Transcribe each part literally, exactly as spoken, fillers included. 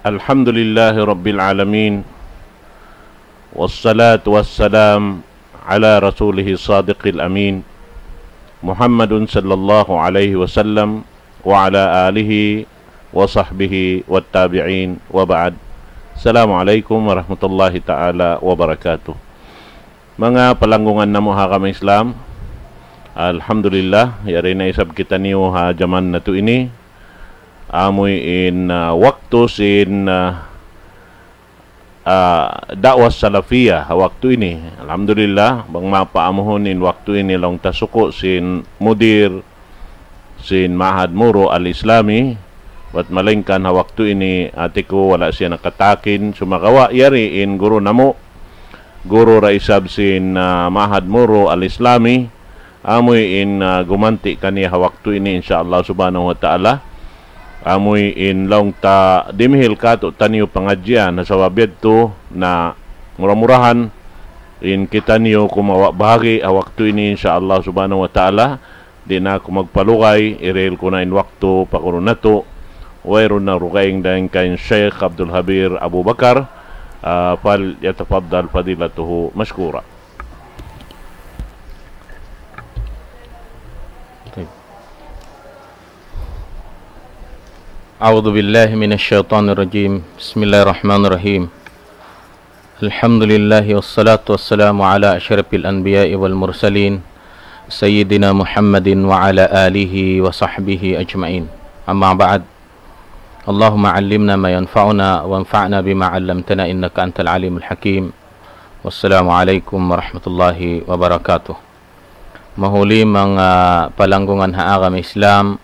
الحمد لله رب العالمين، والصلاة والسلام على رسوله الصادق الأمين، محمد صلى الله عليه وسلم، وعلى آله وصحبه والتابعين، وبعد. السلام عليكم ورحمة الله تعالى وبركاته. Manga palanggungan namu' ha agama Islam, alhamdulillah, yari na isab kitaniyu ha jaman natu' ini. Amuin, ah, waktu sin, ah, ah, da'wah salafiyah ha waktu ini. Alhamdulillah, bang mapaamuhun in waktu ini laung ta suku' sin mudir sin Ma'had Muru Al-Islami, bat malaingkan ha waktu ini hati ku wala' siya nakatakin, sumagawa' yari in guru namu', guru da isab sin, ah, Ma'had Muru Al-Islami, amuin, ah, gumanti' kaniya ha waktu ini, insya Allah subhanahu wa ta'ala. Amuin laung ta dimihil katu' taniyu pangadjian, ha sabab yadtu na mura-murahan in kitaniyu kumawa' bahagi' ha waktu ini, insya Allah subhanahu wa ta'ala. Di' na aku magpalugay, hirihil ku na in waktu pa guru natu'. Wayruun na dugaing dayn kan Sheikh Abdul Habir Abu Bakar, ah, فليتفضل فضيلته مشكورا. طيب. أعوذ بالله من الشيطان الرجيم. بسم الله الرحمن الرحيم. الحمد لله والصلاة والسلام على أشرف الأنبياء والمرسلين سيدنا محمد وعلى آله وصحبه أجمعين. أما بعد. اللهم علمنا ما ينفعنا وانفعنا بما علمتنا إنك أنت العليم الحكيم. والسلام عليكم ورحمة الله وبركاته. Mahuli manga palanggungan ha agama Islam,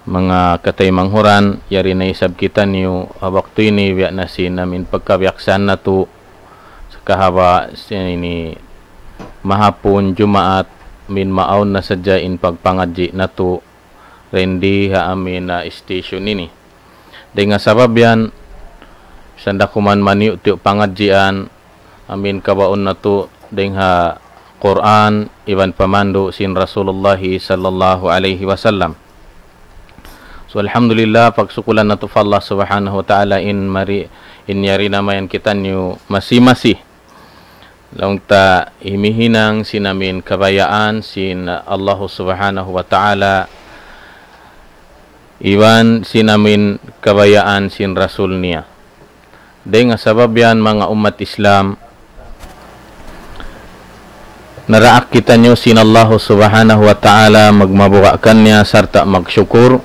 manga kataymanghuran, yari na isab kitaniyu ha waktu ini, biya' na sin amin pagkabiaksan natu', sakahaba' sin ini mahapun Jumaat, amin maawn na sadja in pagpangadji' natu', rendi ha amin, ah, station ini. Dayn ha sabab yan, sanda kuman maniyu'-tiyu' pangadjian, amin kabaun natu' dayn ha Qur'an, iban pamandu' sin Rasulullah sallallahu alayhi wasallam. So, alhamdulillah, pagsukulan natu' pa Allah subhanahu wa ta'ala in mari, in yari na mayan kitaniyu masi-masi. Laung ta himihinang sin amin kabayaan sin Allah subhanahu wa ta'ala, iban sin amin kabayaan sin Rasul niya. Dayn ha sabab yan manga ummat Islam, naraak kitaniyu sin Allah subhanahu wa ta'ala magmabuga' kaniya sarta' magsukur.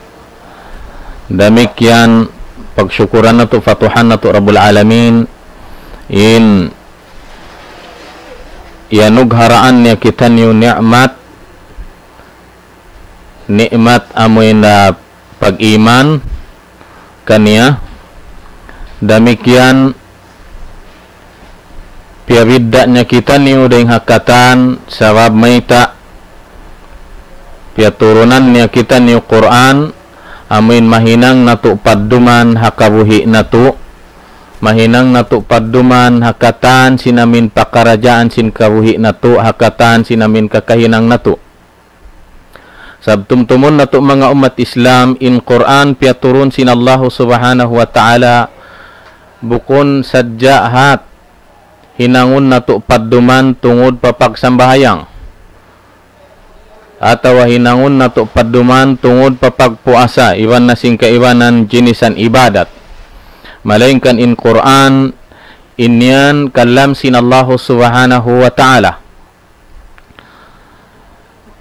Damikkiyan pagsukuran natu' pa Tuhan natu' Rabbul Alamin, in iyanugharaan niya kitaniyu ni'mat, ni'mat amuin, ah, pag-iman kaniya. Damikkiyan piyabidda' niya kitaniyu dayn ha katan, sabab mayta', piyaturunan niya kitaniyu Qur'an, amuin mahinang natu' padduman ha kabuhi' natu', mahinang natu' padduman ha katan sin amin pakaradjaan sin kabuhi' natu', ha katan sin amin kakahinang natu'. Sabab tumtumun natu' manga ummat Islam, in Qur'an piyaturun sin Allahu subhanahu wa ta'ala, bukun sadja hat hinangun natu' padduman tungud pa pagsambahayang, atawa hinangun natu' padduman tungud pa pagpuasa, iban na sin kaibanan jinisan ibadat. Malaingkan in Qur'an, in yan kalam sin Allahu subhanahu wa ta'ala.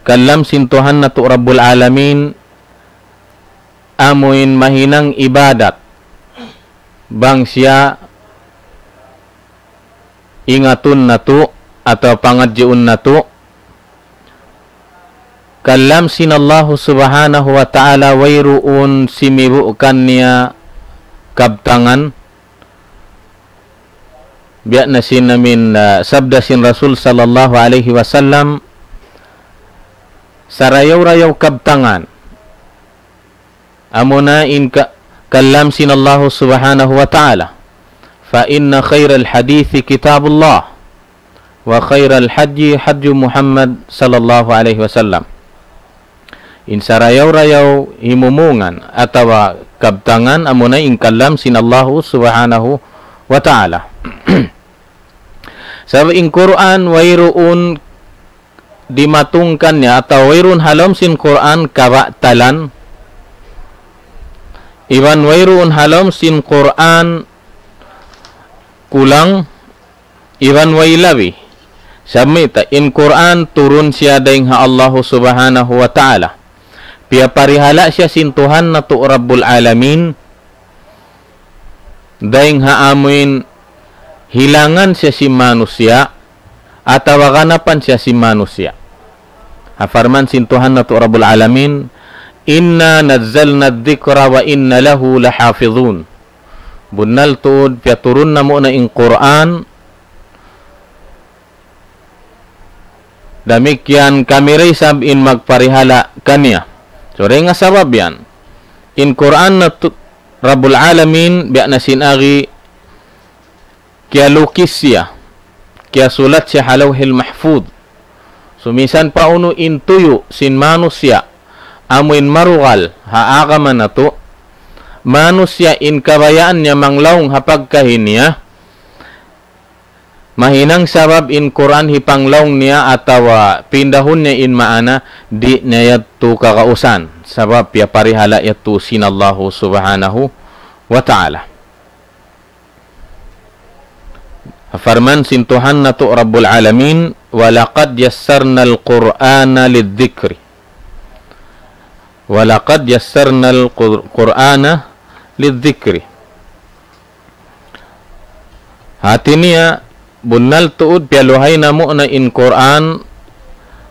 Kalam sin Tuhan natu' Rabbul Alamin, amuin mahinang ibadat bang siya ingatun natu' atawa pangadjiun natu'. Kalam sin Allahu subhanahu wa ta'ala, wayruun simibu' kaniya kabtangan. Biya' na sin amin, ah, sabda sin Rasul sallallahu alayhi wasallam, sarayaw-rayaw kabtangan, amuna in ka-, kalam sin Allahu subhanahu wa ta'ala. فإن خير الحديث كتاب الله، وخير الهدي هدي محمد صلى الله عليه وسلم. In sarayaw-rayaw himumungan atawa kabtangan, amuna in kalam sin Allahu Subhanahu wa Ta'ala. Sabab in Qur'an wayruun dimatung kaniya atawa wayruun ha lawm sin Qur'an kabatalan, iban wayruun ha lawm sin Qur'an kulang, iban way labi. Sabab mayta', in Qur'an turun siya dayn ha Allahu Subhanahu wa Ta'ala. Piyaparihala' siya sin Tuhan natu' Rabbul Alamin, dayn ha amuin hilangan siya sin manusiya', atawa ganapan siya sin manusiya'. Ha parman sin Tuhan natu' Rabbul Alamin, إنا نزلنا الذكر وإنا له لحافظون. Bunnal tuud, piyaturun namu' na in Qur'an, damikkiyan kami da isab in magparihala' kaniya. So, dayn ha sabab yan, in Qur'an natu' Rabbul Alamin, biya' na sin agi, kiyalukis siya, kiyasulat siya ha Lawhil Mahfuz. So, misan pa unu in tuyu' sin manusiya', amuin marugal ha agama natu', manusiya' in kabayaan niya manglaung ha pagkahi niya, mahinang sabab in Qur'an hipanglaung niya atawa pindahun niya in maana, di' niya yadtu kagausan. Sabab piyaparihala' yadtu sin Allahu Subhanahu wa Ta'ala. Parman sin Tuhan natu' Rabbul Alamin, ولقد يسرنا القرآن للذكر. ولقد يسرنا القر-، القرآن للذكر. Hati niya, bunnal tuud piyaluhay namu' na in Qur'an,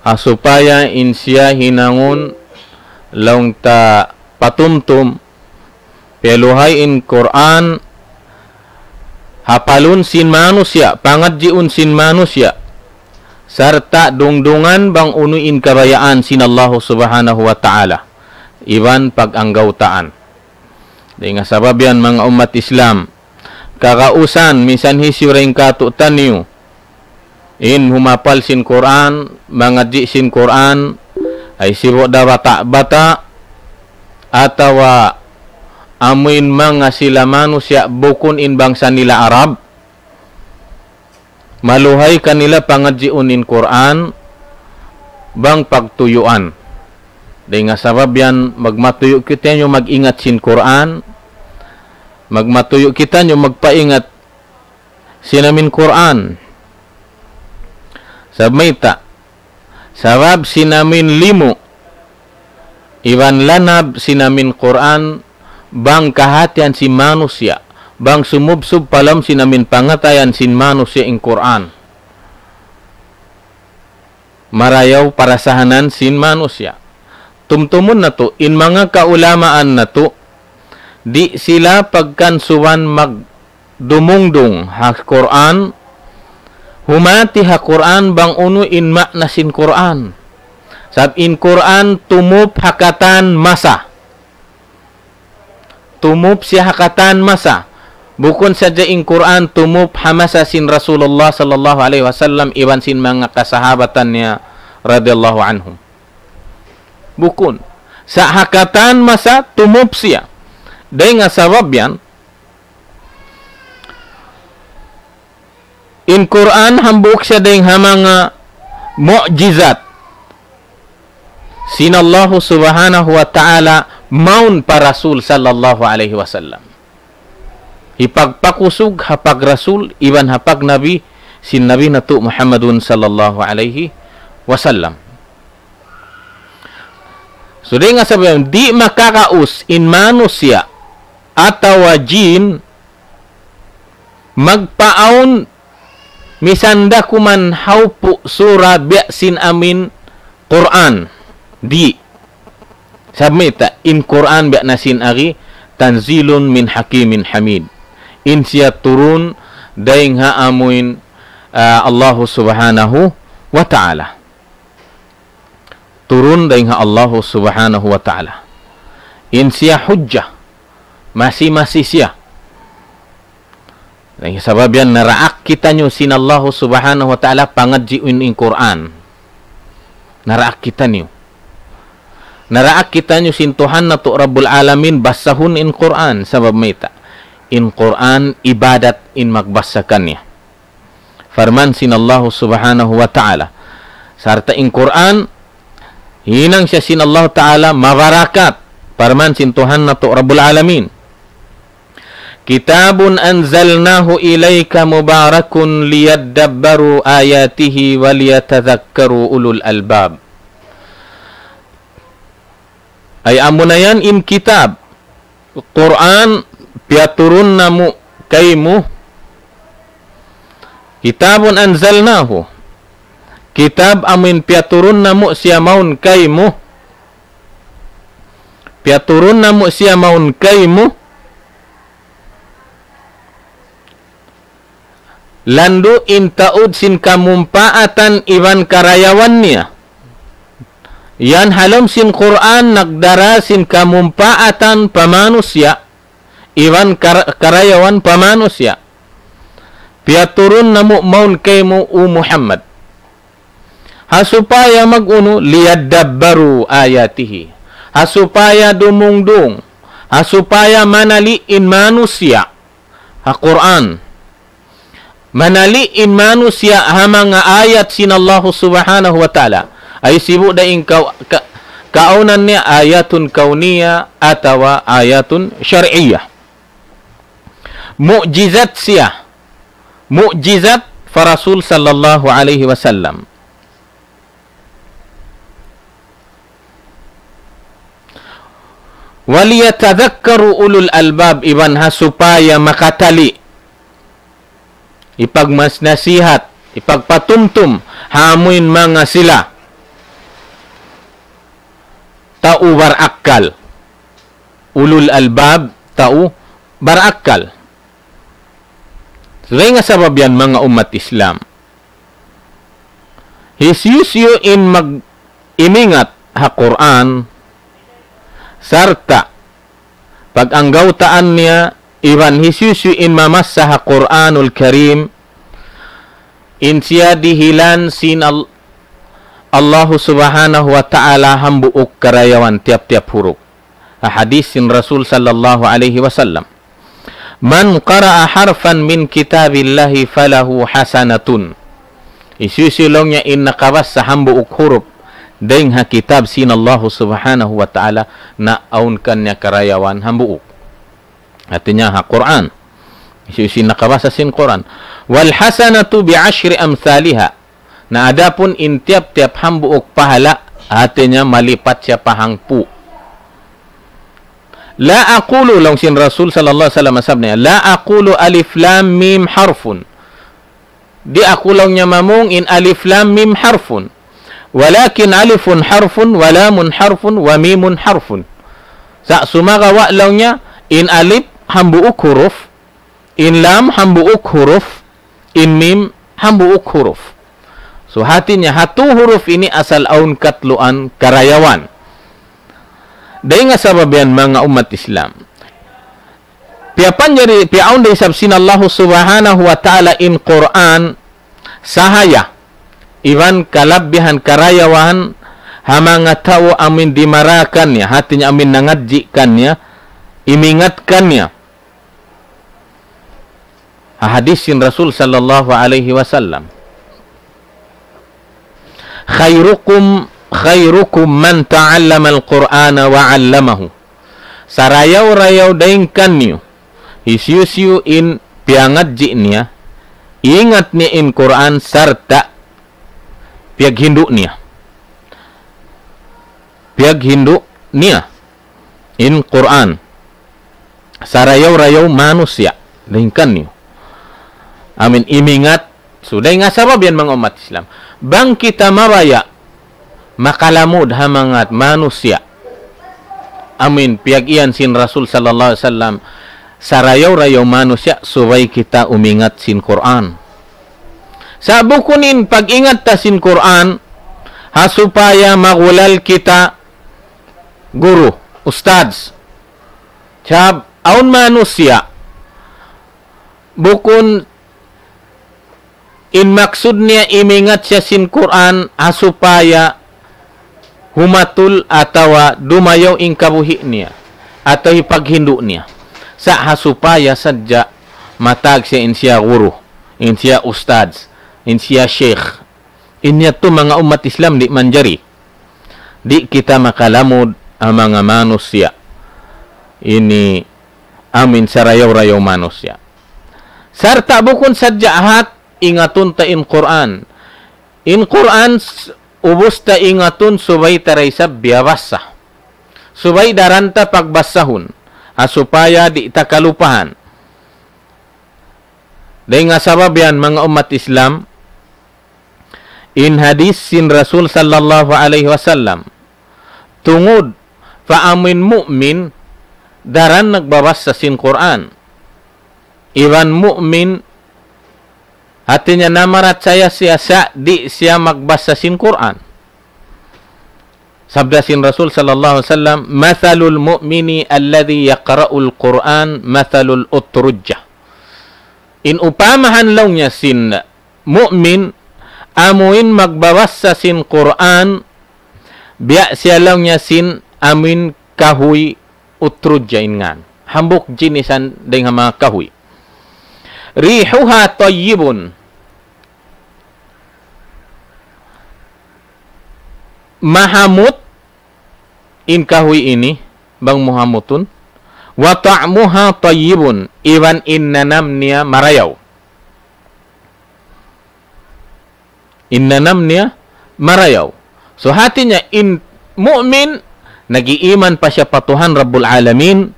ha supaya in siya hinangun laung ta patumtum, piyaluhay in Qur'an, hapalun sin manusiya', pangadjiun sin manusiya', sarta' dungdungan bang unu in kabayaan sin Allahu Subhanahu wa Ta'ala, iban pag-anggawtaan. Dayn ha sabab yan, manga ummat Islam, kagausan, misan hisiyu dayn kātu'niyu in humapal sin Qur'an, mangadji' sin Qur'an, ay sibu' da bata'-bata', atawa amuin manga sila manusiya' bukun in bangsa nila Arab, maluhay kanila pangadjiun in Qur'an bang pagtuyuan. Dayn ha sabab yan, magmatuyu' kitaniyu mag-ingat sin Qur'an, magmatuyu' kitaniyu magpaingat sin amuin Qur'an. Sabab mayta', sabab sin amuin limu' iban lanab sin amuin Qur'an, bang kahatihan sin manusiya', bang sumubsub pa lawm sin amuin pangatayan sin manusiya' in Qur'an, marayaw parasahanan sin manusiya'. Tumtumun natu', in manga kaulamaan natu', di' sila pagkansuban mag- dumungdung ha Qur'an, humati ha Qur'an bang unu in ma'na sin Qur'an. Sabab in Qur'an tumup ha katan masa. Tumup siya ha katan masa. Bukun sadja in Qur'an tumup ha masa sin Rasulullah sallallahu alayhi wasallam iban sin manga kasahabatan niya radiyallahu anhum. Bukun. Sa' ha katan masa tumup siya. Dayn ha sabab yan, in Qur'an hambuuk siya dayn ha manga mu'jizat sin Allahu Subhanahu wa Ta'ala mawn pa Rasul sallallahu alayhi wasallam. Hipagpakusug ha pag-Rasul iban ha pag-Nabi sin Nabi natu' Muhammadun sallallahu alayhi wasallam. So, dayn ha sabab yan, di' makaraus in manusiya' atawa jin magpaawn misan da kuman hawpu' sura biya' sin amuin Qur'an. Di'. Sabab mayta', in Qur'an biya' na sin agi, تنزيل من حكيم حميد. In siya turun dayn ha amuin, ah, Allahu Subhanahu wa Ta'ala. Turun dayn ha Allahu Subhanahu wa Ta'ala. In siya hujja, masi-masi siya. Dayn ha sabab yan, naraak kitaniyu sin Allahu Subhanahu wa Ta'ala pangadjiun in Qur'an. Naraak kitaniyu. Naraak kitaniyu sin Tuhan natu' Rabbul Alamin basahun in Qur'an, sabab mayta'? In Qur'an ibadat in magbasa kaniya. Parman sin Allahu Subhanahu wa Ta'ala. Sarta' in Qur'an, hinang siya sin Allahu Ta'ala mabarakat. Parman sin Tuhan natu' Rabbul Alamin. كتاب أنزلناه إليك مبارك ليدبروا آياته وليتذكروا أولو الألباب. Ay amuna yan in kitab, Qur'an, piyaturun namu' kaymu. كتاب أنزلناه. Kitab amun piyaturun namu' siya mawn kaymu. Piyaturun namu' siya mawn kaymu. Landu' in taud sin kamumpaatan iban karayawan niya. Yan ha lawm sin Qur'an nagdara sin kamumpaatan pa manusiya', iban kar-, karayawan pa manusiya'. Piyaturun namu' mawn kaymu, O Muhammad. Ha supaya mag-unu, ليدبروا آياته. Ha supaya dumungdung. Ha supaya manali' in manusiya' ha Qur'an. Manali' in manusiya' ha manga ayat sin Allahu Subhanahu wa Ta'ala. Ay sibu' da in ka-, ka-, kaawnan niya آيات كونية atawa آيات شرعية. Mu'jizat siya. Mu'jizat pa Rasul sallallahu alayhi wasallam. وليتذكروا أولو الألباب, iban ha supaya makatali', ipagmas-, nasihat, ipagpatumtum ha amuin manga sila tau barakkal. Ulul albab, tau barakkal. Dayn ha sabab yan, manga ummat Islam, hisiyu-siyu in mag-, imingat ha Qur'an, sarta' pag-anggawtaan niya, iban hisiyu-siyu in mamassa ha Qur'anul Karim, in siya dihilan sin Al-, Allahu Subhanahu wa Ta'ala hambuuk karayawan tiyap-tiyap huruf. Ha hadis sin Rasul sallallahu alayhi wasallam, من قرأ حرفا من كتاب الله فله حسنة. Hisiyu-siyu laung niya in nakabassa hambuuk huruf dayn ha kitab sin Allahu Subhanahu wa Ta'ala, na awn kaniya karayawan hambuuk. Hati niya ha Qur'an. Hisiyu-siyu in nakabassa sin Qur'an. والحسنة بعشر أمثالها. Na adapun in tiyap-tiyap hambuuk pahala', hati niya malipat siya pa hangpu'. لا أقول, laung sin Rasul sallallahu alayhi wasallam, sabab niya, لا أقول ألف لام ميم حرف. Di' aku laung niya mamung in alif lam mim harfun. ولكن ألف حرف ولام حرف وميم حرف. Sa' sumagawa' laung niya in alif hambuuk huruf, in lam hambuuk huruf, in mim hambuuk huruf. So, hati niya, ha tū huruf ini asal awn katluan karayawan. Dayn ha sabab yan, manga ummat Islam, piyapanjari, piyaawn da isab sin Allahu Subhanahu wa Ta'ala in Qur'an sahaya iban kalabbihan karayawan ha manga tau amuin dimara kaniya, hati niya amuin nangadji' kaniya, imingat kaniya. Ha hadis sin Rasul sallallahu alayhi wasallam, خيركم، خيركم من تعلم القرآن وعلمه. Sarayaw-rayaw dayn kaniyu, hisiyu-siyu in piyangadji' niya, ingat niya in Qur'an sarta' piyaghindu' niya. Piyaghindu' niya in Qur'an. Sarayaw-rayaw manusiya', dayn kaniyu amuin imingat. So, dayn ha sabab yan, manga ummat Islam, bang kita mabaya' makalamud ha manga manusiya' amuin piyag-iyan sin Rasul sallallahu alayhi wasallam, sarayaw-rayaw manusiya', subay kita umingat sin Qur'an. Sa' bukun in pag-ingat ta sin Qur'an ha supaya magulal kita guru, ustadz. Sabab awn manusiya', bukun in maksud niya imingat siya sin Qur'an ha supaya humatul atawa dumayaw in kabuhi' niya, atawa hipaghindu' niya. Sa' ha supaya sadja matag siya in siya guru, in siya ustadz, in siya sheikh. In yadtu manga ummat Islam di' manjari. Di' kita makalamud ha manga manusiya'. Ini amin sarayaw-rayaw manusiya'. Sarta' bukun sadja hat ingatun ta in Qur'an. In Qur'an s-, ubus ta ingatun subay ta da isab biyabassa. Subay daran ta pagbasahun. Ha supaya di' ta kalupahan. Dayn ha sabab yan, manga ummat Islam, in hadis sin Rasul sallallahu alayhi wasallam, tungud pa amuin mu'min, daran nagbabassa sin Qur'an. Iban mu'min, hatinya namarachaya siya sa' di' siya magbassa sin Qur'an. Sabda sin Rasul sallallahu alayhi wasallam, مثل المؤمن الذي يقرأ القرآن مثل الأترجة. In upamahan laung niya sin mu'min, amuin magbabassa sin Qur'an, biya' siya laung niya sin amuin kahuy utrudja in ngan. Hambuuk jinisan dayn ha manga kahuy. ريحها طيب. Mahamut in kahuy ini, bang mu hamutun. وطعمها طيب, iban in nanam niya marayaw. In nanam niya marayaw. So, hatinya in mu'min, nag-iiman pa siya pa Tuhan Rabbul Alamin,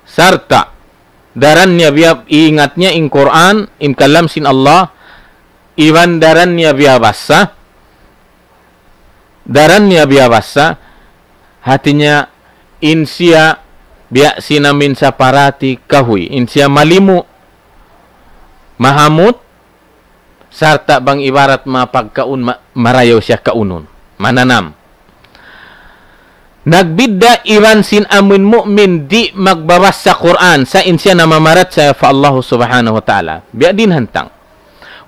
sarta' daran niya biya-, iingat niya in Qur'an, in kalam sin Allah, iban daran niya biyabassa, daran niya biyabassa, hatinya in siya biya' sin amuin saparati kahuy, in siya malimu, mahamut, sarta' bang ibarat manga pagkaun ma-, marayaw siya kaunun, mananam. Nagbidda' iban sin amuin mu'min di' magbabassa Qur'an, sa' in siya namamarachaya pa Allah Subhanahu wa Ta'ala. Biya' diin hantang.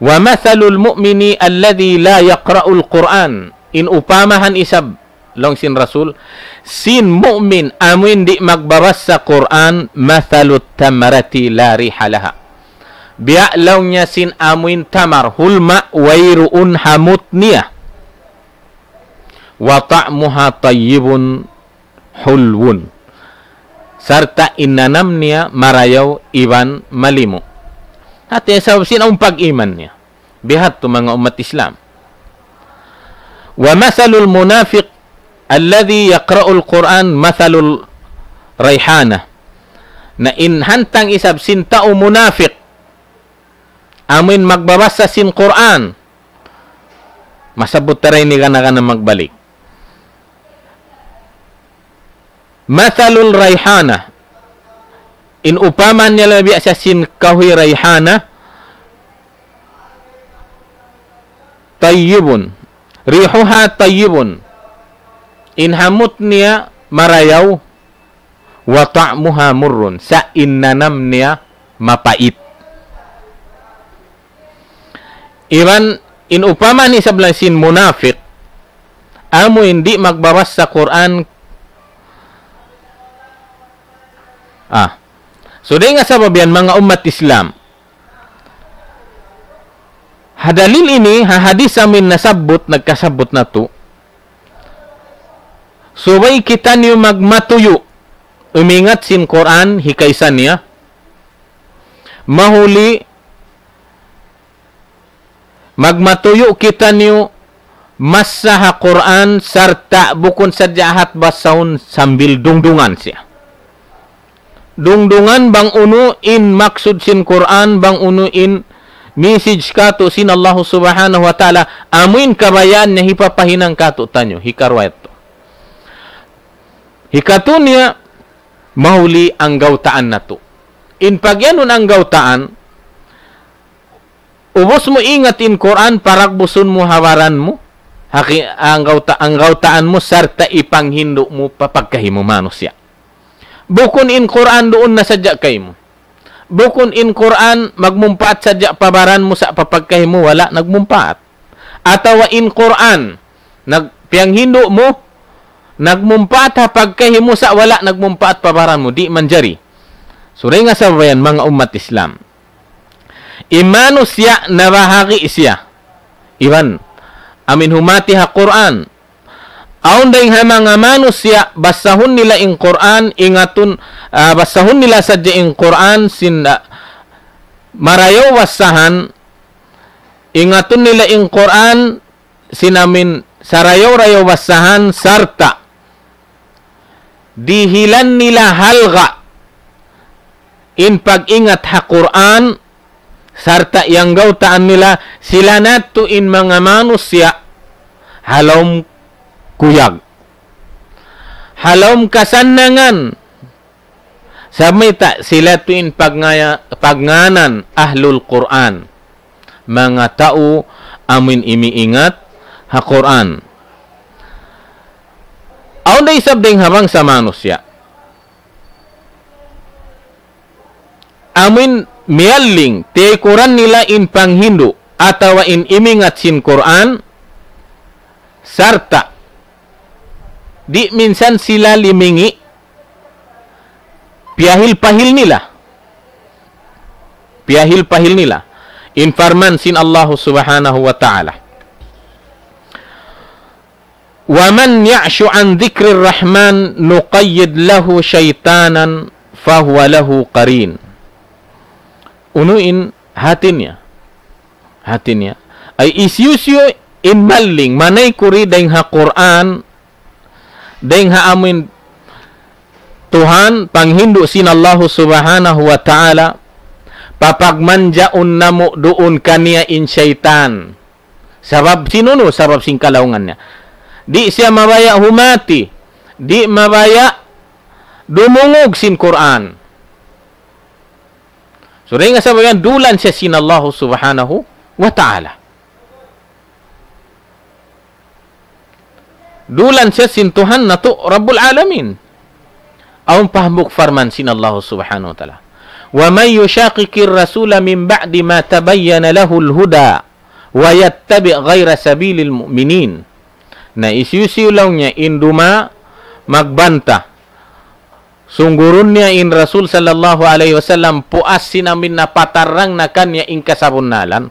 ومثل المؤمن الذي لا يقرأ القرآن. In upamahan isab, laung sin Rasul, sin mu'min amuin di' magbabassa Qur'an, مثل التمرة لا ريح لها. Biya' laung niya sin amuin tamar, hulma', wayruun hamut niya. وطعمها طيب حلو. Sarta' in nanam niya marayaw iban malimu. Hati sabab sin awn pag-iman niya. Bihadtu manga ummat Islam. ومثل المنافق الذي يقرأ القرآن مثل الريحانة. Na in hantang isab sin tau munafik, amuin magbabassa sin Qur'an. Masabbut ta ra ini gana-gana magbalik. مثل الريحانة. In upama niya laung biya' sa sin kahuy rayhana, طيب. ريحها طيب. In hamut niya marayaw, وطعمها مر. Sa' in nanam niya mapait. Iban in upama isab laung sin munafik, amuin di' magbabassa Qur'an. Ah. So, dayn ha sabab yan, manga ummat Islam. Ha dalil ini, ha hadis amuin nasabbut, nagkasabbut natu'. Subay kitaniyu magmatuyu', umingat sin Qur'an, hikaisan niya. Mahuli, magmatuyu' kitaniyu massa ha Qur'an sarta' bukun sadja hat basahun sambil dungdungan siya. Dungdungan bang unu in maksud sin Qur'an, bang unu in message katu' sin Allah Subhanahu wa Ta'ala, amuin kabayaan niya hipapahinang katu'taniyu, hikaruwa yadtu. Hikatu niya, mahuli anggawtaan natu'. In pagiyanun anggawtaan, ubus mu ingat in Qur'an, paragbusun mu ha baran mu, haki-, anggawta-, anggawtaan mu, sarta' ipanghindu' mu pa pagkahi mu manusiya'. Bukun in Qur'an duun na sadja kaymu. Bukun in Qur'an magmumpaat sadja pa baran mu sa' pa pagkahi mu wala' nagmumpaat. Atawa in Qur'an nag-, piyanghindu' mu, nagmumpaat ha pagkahi mu sa' wala' nagmumpaat pa baran mu, di' manjari. Suri nga sabayan manga ummat Islam. In manusiya' nabahagi' siya. Iban, amin humati ha Qur'an. Awn dayng ha manga manusiya', basahun nila in Qur'an, ingatun, ah, basahun nila sadja in Qur'an, sin, ah, marayaw basahan, ingatun nila in Qur'an, sin amin sarayaw-rayaw basahan, sarta' dihilan nila halga' in pag-ingat ha Qur'an, sarta' iyanggaw-taan nila, sila na tuud in manga manusiya' ha lawm kuyag, ha lawm kasannangan. Sa' mayta', sila tuud in pagngaya-, pagngānan Ahlul Qur'an. Manga tau amuin imiingat ha Qur'an. Awn da isab dayng ha bangsa manusiya'. Amuin miyalling, tiyaykuran nila in panghindu', atawa in imingat sin Qur'an, sarta' di' minsan sila limingi', piyahil-pahil nila. Piyahil-pahil nila. In parman sin Allahu Subhanahu wa Ta'ala. ومن يعش عن ذكر الرحمن نقيض له شيطانا فهو له قرين. Unu in hati niya? Hati niya. Ay hisiyu-siyu in malling, manaykud dayn ha Qur'an, dayn ha amuin Tuhan, panghindu' sin Allahu Subhanahu wa Ta'ala, papagmanjaun namu' duun kaniya in saytan. Sabab sin unu, sabab sin kalaungan niya. Di' siya mabaya' humati, di' mabaya' dumungug sin Qur'an. So, dayn ha sabab yan, dulan siya sin Allahu Subhanahu wa Ta'ala. Dulan siya sin Tuhan natu' Rabbul Alamin. Awn pa hambuuk parman sin Allahu Subhanahu wa Ta'ala. ومن يشاقق الرسول من بعد ما تبين له الهدى ويتبع غير سبيل المؤمنين. Na hisiyu-siyu laung niya in duma magbanta. Sunggurun niya in Rasul sallallahu alayhi wasallam puas sin amuin napatarrang na kaniya in kasabunnalan.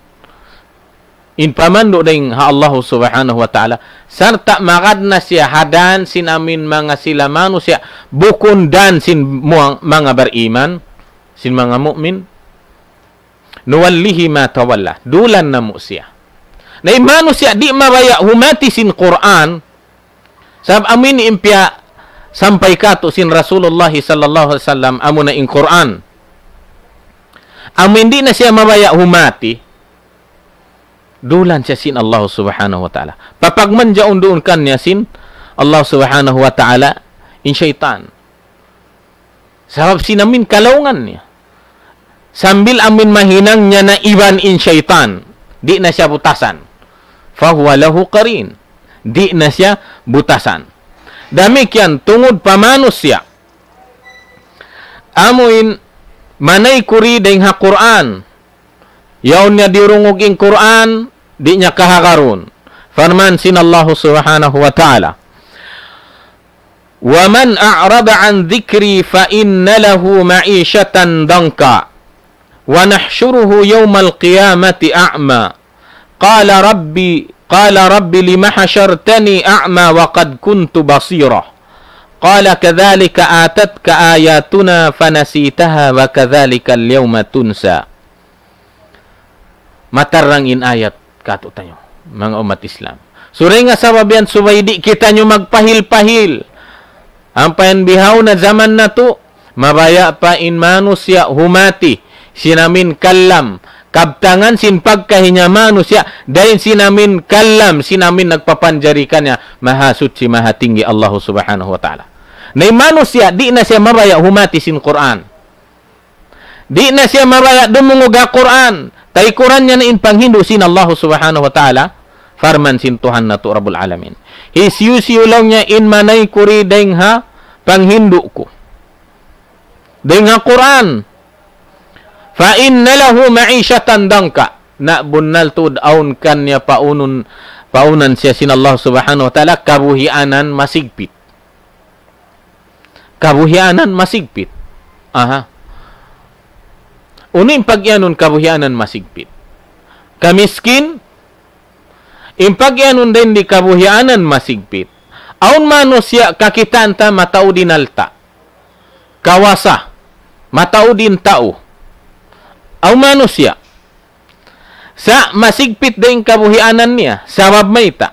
In pamandu' dayn ha Allahu Subhanahu wa Ta'ala. Sarta' magad na siya ha dan sin amuin manga sila manusiya', bukun dan sin muang-, manga bariman, sin manga mu'min. نوله ما تولى. Dulan namu' siya. Na in manusiya' di' mabaya' humati sin Qur'an, sabab amuin in piyasampay katu' sin Rasulullah sallallahu alayhi wasallam, amuna in Qur'an. Amuin di' na siya mabaya' humati, dulan siya sin Allah Subhanahu wa Ta'ala. Papagmanjaun duun kaniya sin Allah Subhanahu wa Ta'ala in saytan. Sabab sin amuin kalaungan niya. Sambil amuin mahinang niya na iban in saytan. Di' na siya butasan. فهو له قرين. Di' na siya butasan. Damikkiyan tungud pa manusiya'. Amuin manaykud dayn ha Qur'an. Yaun niya diyurungug in Qur'an, di' niya kahagarun. Parman sin Allahu Subhanahu wa Ta'ala. ومن أعرض عن ذكري فإن له معيشة ضنكا ونحشره يوم القيامة أعمى قال رب قال رب لم حشرتني أعمى وقد كنت بصيرا قال كذلك أتتك آياتنا فنسيتها وكذلك اليوم تنسى. Matarrang in ayat katu'taniyu, manga ummat Islam. Suri nga sabab yan subay di' kitaniyu magpahil-pahil. Ampa yan bihaun na jaman natu', mabaya' pa in manusiya' humati, sin amuin kalam, kabtangan sin pagkahi niya manusiya', dayn sin amuin kalam, sin amuin nagpapanjari kaniya, Mahasuchi, Mahatinggi Allahu Subhanahu wa Ta'ala. Na in manusiya', di' na siya mabaya' humati sin Qur'an. Di' na siya mabaya' dumungug ha Qur'an. Taykuran niya na in panghindu' sin Allahu Subhanahu wa Ta'ala. Parman sin Tuhan natu' Rabbul Alamin. Hisiyu-siyu laung niya in manaykud dayn ha panghindu' ku. Dayn ha Qur'an. فإن له معيشة ضنكا. Na bunnal tuud awn kaniya paunun, paunan siya sin Allah Subhanahu wa Ta'ala, kabuhianan masigpit. Kabuhianan masigpit. Aha. Unu in pagiyanun kabuhianan masigpit? Kamiskin, in pagiyanun dayn di kabuhianan masigpit. Awn manusiya' kakitaan ta mataud in alta'. Kawasa. Mataud in tau. Awn manusiya'. Sa' masigpit da in kabuhianan niya. Sabab mayta'?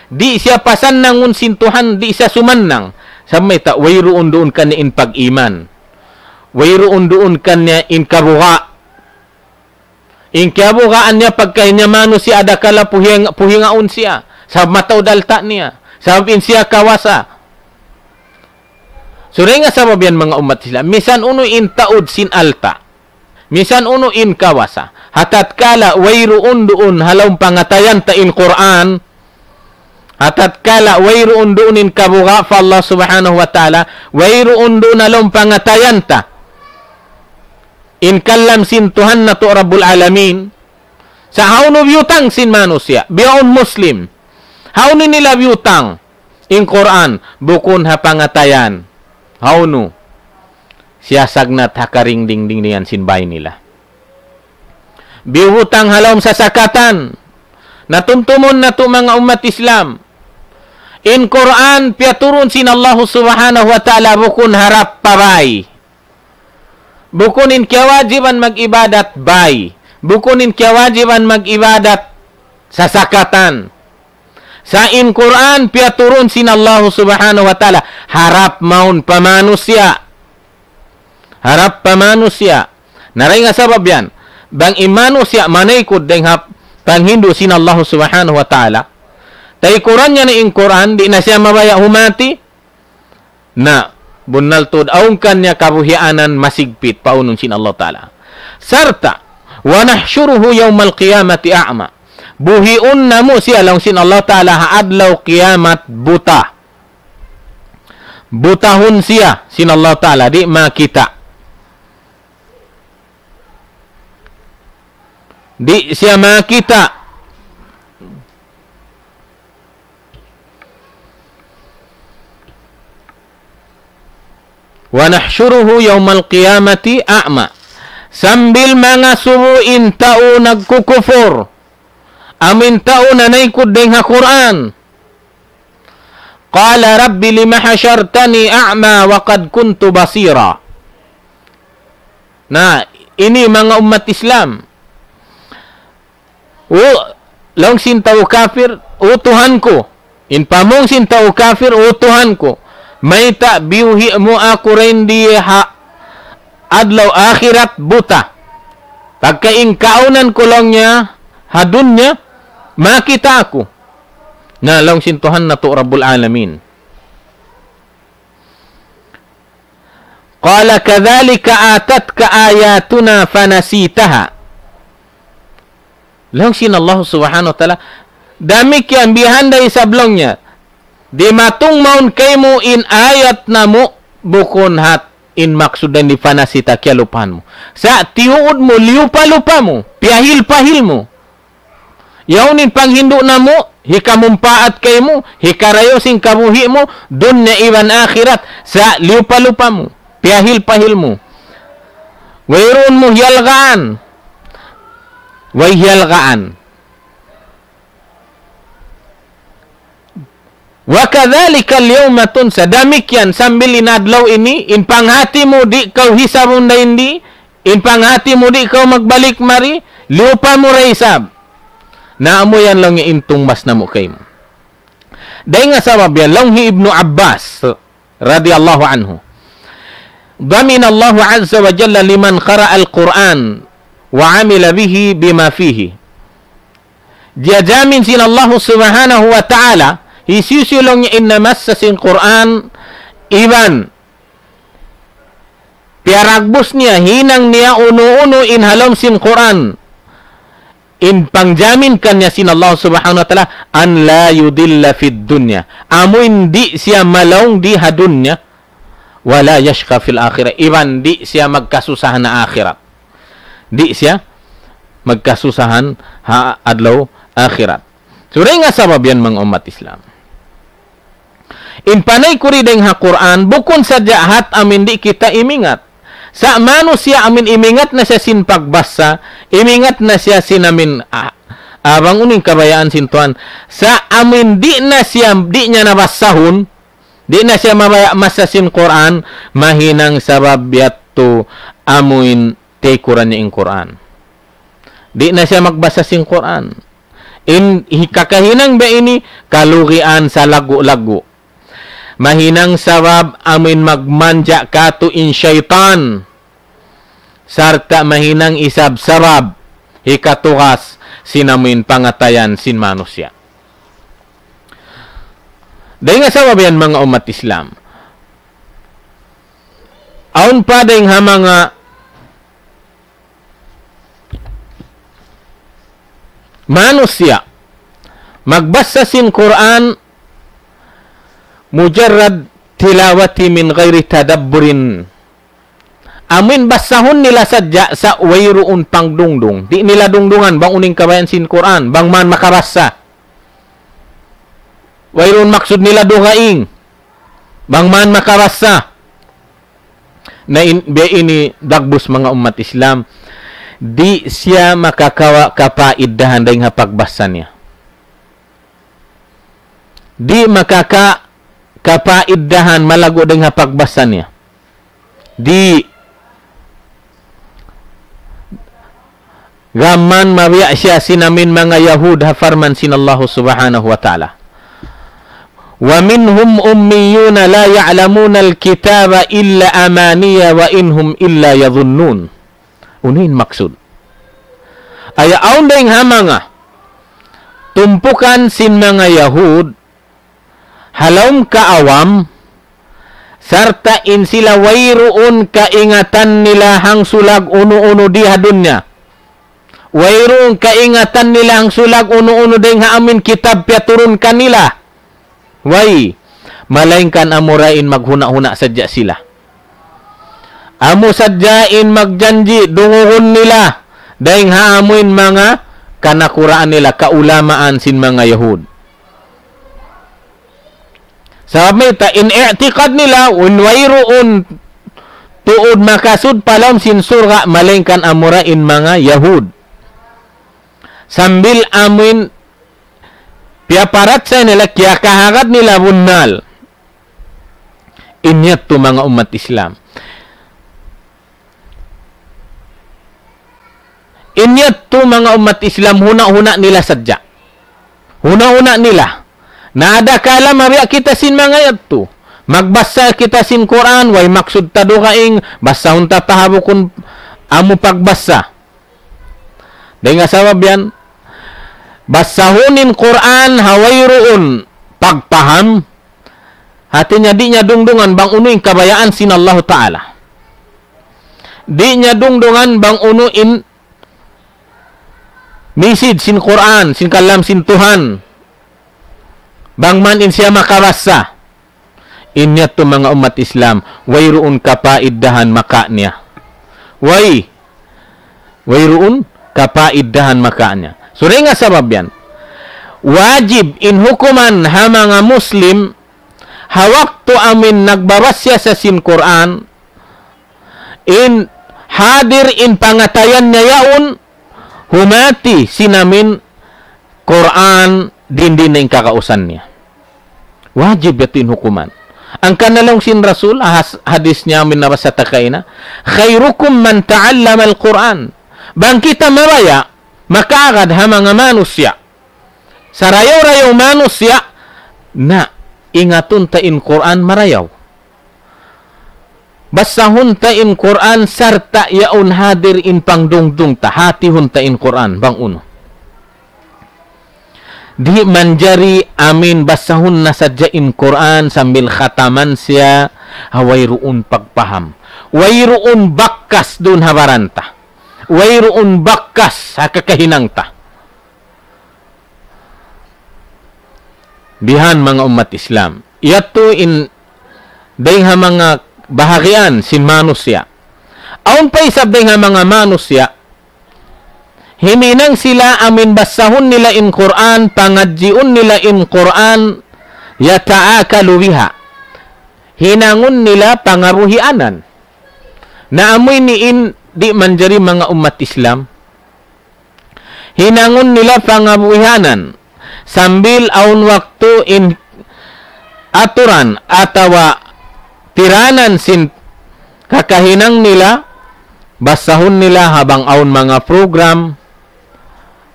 Di' siya pasannangun sin Tuhan, di' siya sumannang. Sabab mayta', wayruun duun kaniya in pag-iman. Wayruun duun kaniya in kabuga'. In kiyabugaan niya pagkahi niya manusiya' adakala puhing-, puhingaun siya. Sabab mataud alta' niya. Sabab in siya kawasa. So, dayn ha sabab yan manga ummat Islam. Misan unu in taud sin alta'. Misan unu in kawasa. Ha tatkala wayruun duun ha lawm pangatayan ta in Qur'an. Ha tatkala wayruun duun in kabuga' pa Allah Subhanahu wa Ta'ala. Wayruun duun ha lawm pangatayan ta in kalam sin Tuhan natu' Rabbul Alamin. Sa' hawnu biyutang sin manusiya'? Biyaun Muslim. Hawnu nila biyutang in Qur'an? Bukun ha pangatayan. Hawnu? Siyasagnat ha karing dingdingan sin bāy nila. Biyutang ha lawm sasakatan. Na tumtumun natu' manga ummat Islam. In Qur'an piyaturun sin Allah Subhanahu wa Ta'ala bukun harap pa bāy. Bukun in kiyawajiban mag-ibadat bāy. Bukun in kiyawajiban mag-ibadat sasakatan. Sa' in Qur'an piyaturun sin Allah Subhanahu wa Ta'ala harap mawn pa manusiya'. Harap pa manusiya'. Na dayn ha sabab yan, bang in manusiya' manaykud dayn ha panghindu' sin Allah Subhanahu wa Ta'ala, taykuran niya na in Qur'an, di' na siya mabaya' humati, na bunnal tuud awn kaniya kabuhianan masigpit pa unun sin Allah Ta'ala. Sarta', ونحشره يوم القيامة أعمى. Buhiun namu' siya laung sin Allah Ta'ala ha adlaw kiyamat buta. Butahun siya sin Allah Ta'ala, di' makita'. Di' siya makita'. ونحشره يوم القيامة أعمى. Sambil mangasubu in tau nagkukupur. Amu in tau nanaykud dayn ha Qur'an. قال رب لم حشرتني أعمى وقد كنت بصيرا. Na, ini manga ummat Islam. O, laung sin tau kafir, "O Tuhan ku." In pamung sin tau kafir, "O Tuhan ku. Mayta' biyuhi' mu aku dayn di ha adlaw akhirat buta. Pagka in kaunan ku laung niya, ha dunya, makita' aku." Na laung sin Tuhan natu' Rabbul Alamin. قال كذلك أتتك آياتنا فنسيتها. Laung sin Allah Subhanahu wa Ta'ala, damikkiyan bihan da isab laung niya. Dimatung mawn kaymu in ayat namu' bukun hat in maksud dayn di فنسيتها kiyalupahan mu. Sa' tiyuud mu, liyupa-lupa mu, piyahil-pahil mu. Yaun in panghindu' namu', hikamumpaat kaymu, hikarayaw sin kabuhi' mu, dunya iban akhirat, sa' liyupa-lupa mu, piyahil-pahil mu. Wayruun mu hiyalgaan. Way hiyalgaan. وكذلك اليوم تنسى. Damikkiyan sambil in adlaw ini, in panghati mu di' kaw hisabun dayn di, in panghati mu di' kaw magbalik mari, liyupa mu da isab. Na amu yan laung niya in tungbas namu' kaymu. Dayn ha sabab yan, laung hi Ibnu Abbas, radiyallahu anhu. ضمن الله عز وجل لمن قرأ القرآن وعمل به بما فيه. Diyajamin sin Allah Subhanahu wa Ta'ala, hisiyu-siyu laung niya in namassa sin Qur'an, iban piyaragbus niya, hinang niya unu-unu in ha lawm sin Qur'an. In pangjamin kaniya sin Allah Subhanahu wa Ta'ala, أن لا يضل في الدنيا. Amu in di' siya malaung di ha dunya, ولا يشقى في الآخرة. Iban di' siya magkasusahan ha akhirat. Di' siya magkasusahan ha adlaw akhirat. So, dayn ha sabab yan, manga ummat Islam. In panay kuri dayng ha Qur'an, bukun sadja hat amin di' kita imingat. Sa' manusiya' amin imingat na siya sin pagbasa, imingat na siya sin amin, ah, ah, bang unu in kabayaan sin Tuhan. Sa' amin di' na siya, di' niya nabasahun, di' na siya mabaya' masa sin Qur'an, mahinang sabab yadtu amuin tikuran niya in Qur'an. Di' na siya magbasa sin Qur'an. In hi-, kakahinang biya' ini, kalugian salaggu'-laggu'. Mahinang sabab amuin magmanja' katu' in saytan. Sarta' mahinang isab sabab hikatugas sin amuin pangatayan sin manusiya'. Dayng ha sabab yan, manga ummat Islam. Awn pa dayng ha manga manusiya' magbasa sin Qur'an mujarrad tilawati min ghayri tadabburin. Amuin basahun nila sadja sa' wayruun pangdungdung. Di' nila dungdungan bang unu in kabayaan sin Qur'an, bang man makabasa. Wayruun maksud nila dugaing, bang man makabasa. Na in, biya' ini dagbus manga ummat Islam, di' siya makakawa' kapaidahan dayng ha pagbasa niya. Di' makaka-, kapaidahan malaggu' dayng ha pagbasa niya. Di' gam man mabiya' siya sin amuin manga Yahud ha parman sin Allahu Subhanahu wa Ta'ala. ومنهم أميون لا يعلمون الكتاب إلا أماني وإن هم إلا يظنون. Unu in maksud? Aya awn dayng ha manga tumpukan sin manga Yahud, ha lawm kaawam, sarta' in sila wayruun kaingatan nila hangsulag unu-unu di ha dunya. Wayruun kaingatan nila hangsulag unu-unu dayng ha amuin kitab piyaturun kanila. Way, malaingkan amura in maghuna'-huna' sadja sila. Amu sadja in magjanji' dungugun nila dayng ha amuin manga kanakuraan nila, kaulamaan sin manga Yahud. Sabab mayta', in i'tiqad nila, in wayruun tuud makasud pa lawm sin surga', malaingkan amura in manga Yahud. Sambil amuin piyaparachaya nila, kiyakahagad nila bunnal. In yadtu manga ummat Islam. In yadtu manga ummat Islam, huna'-huna' nila sadja. Huna'-huna' nila. Na adakala mabiya' kita sin manga yadtu. Magbasa kita sin Qur'an, way maksud ta dugaing, basahun ta pa ha bukun amu pagbasa. Dayng ha sabab yan, basahun in Qur'an ha wayruun pagpaham, hati niya di' niya dungdungan bang unu in kabayaan sin Allahu Ta'ala. Di' niya dungdungan bang unu in message sin Qur'an, sin kalam sin Tuhan. Bang man in siya makabasa. In yadtu manga ummat Islam, wayruun kapaidahan maka niya. Way, wayruun kapaidahan maka niya. So, dayng ha sabab yan, wajib in hukuman ha manga Muslim, ha waktu amuin nagbabasa siya sin Qur'an, in hadir in pangatayan niya yaun, humati sin amuin Qur'an, dindi na in kagausan niya. Wajib yadtu in hukuman. Hangkan na laung sin Rasul, has-, hadis niya amuin nabasa ta kaina, خيركم من تعلم القرآن. Bang kita mabaya', makaagad ha manga manusiya'. Sarayaw-rayaw manusiya', na ingatun ta in Qur'an marayaw. Basahun ta in Qur'an sarta' yaun hadir in pangdungdung ta, hatihun ta in Qur'an, bang unu. Di' manjari amuin basahun na sadja in Qur'an sambil khataman siya, ha wayruun pagpaham. Wayruun bakas duun ha baran ta. Wayruun bakas ha kakahinang ta. Bihan manga ummat Islam. Yadtu in dayng ha manga bahagian sin manusiya'. Awn pa isab dayng ha manga manusiya', himinang sila amuin basahun nila in Qur'an, pangadjiun nila in Qur'an, يتآكل بها. Hinangun nila pangabuhianan. Na amu ini in di' manjari manga ummat Islam. Hinangun nila pangabuhianan. Sambil awn waktu in aturan atawa tiranan sin kakahinang nila, basahun nila ha bang awn manga program,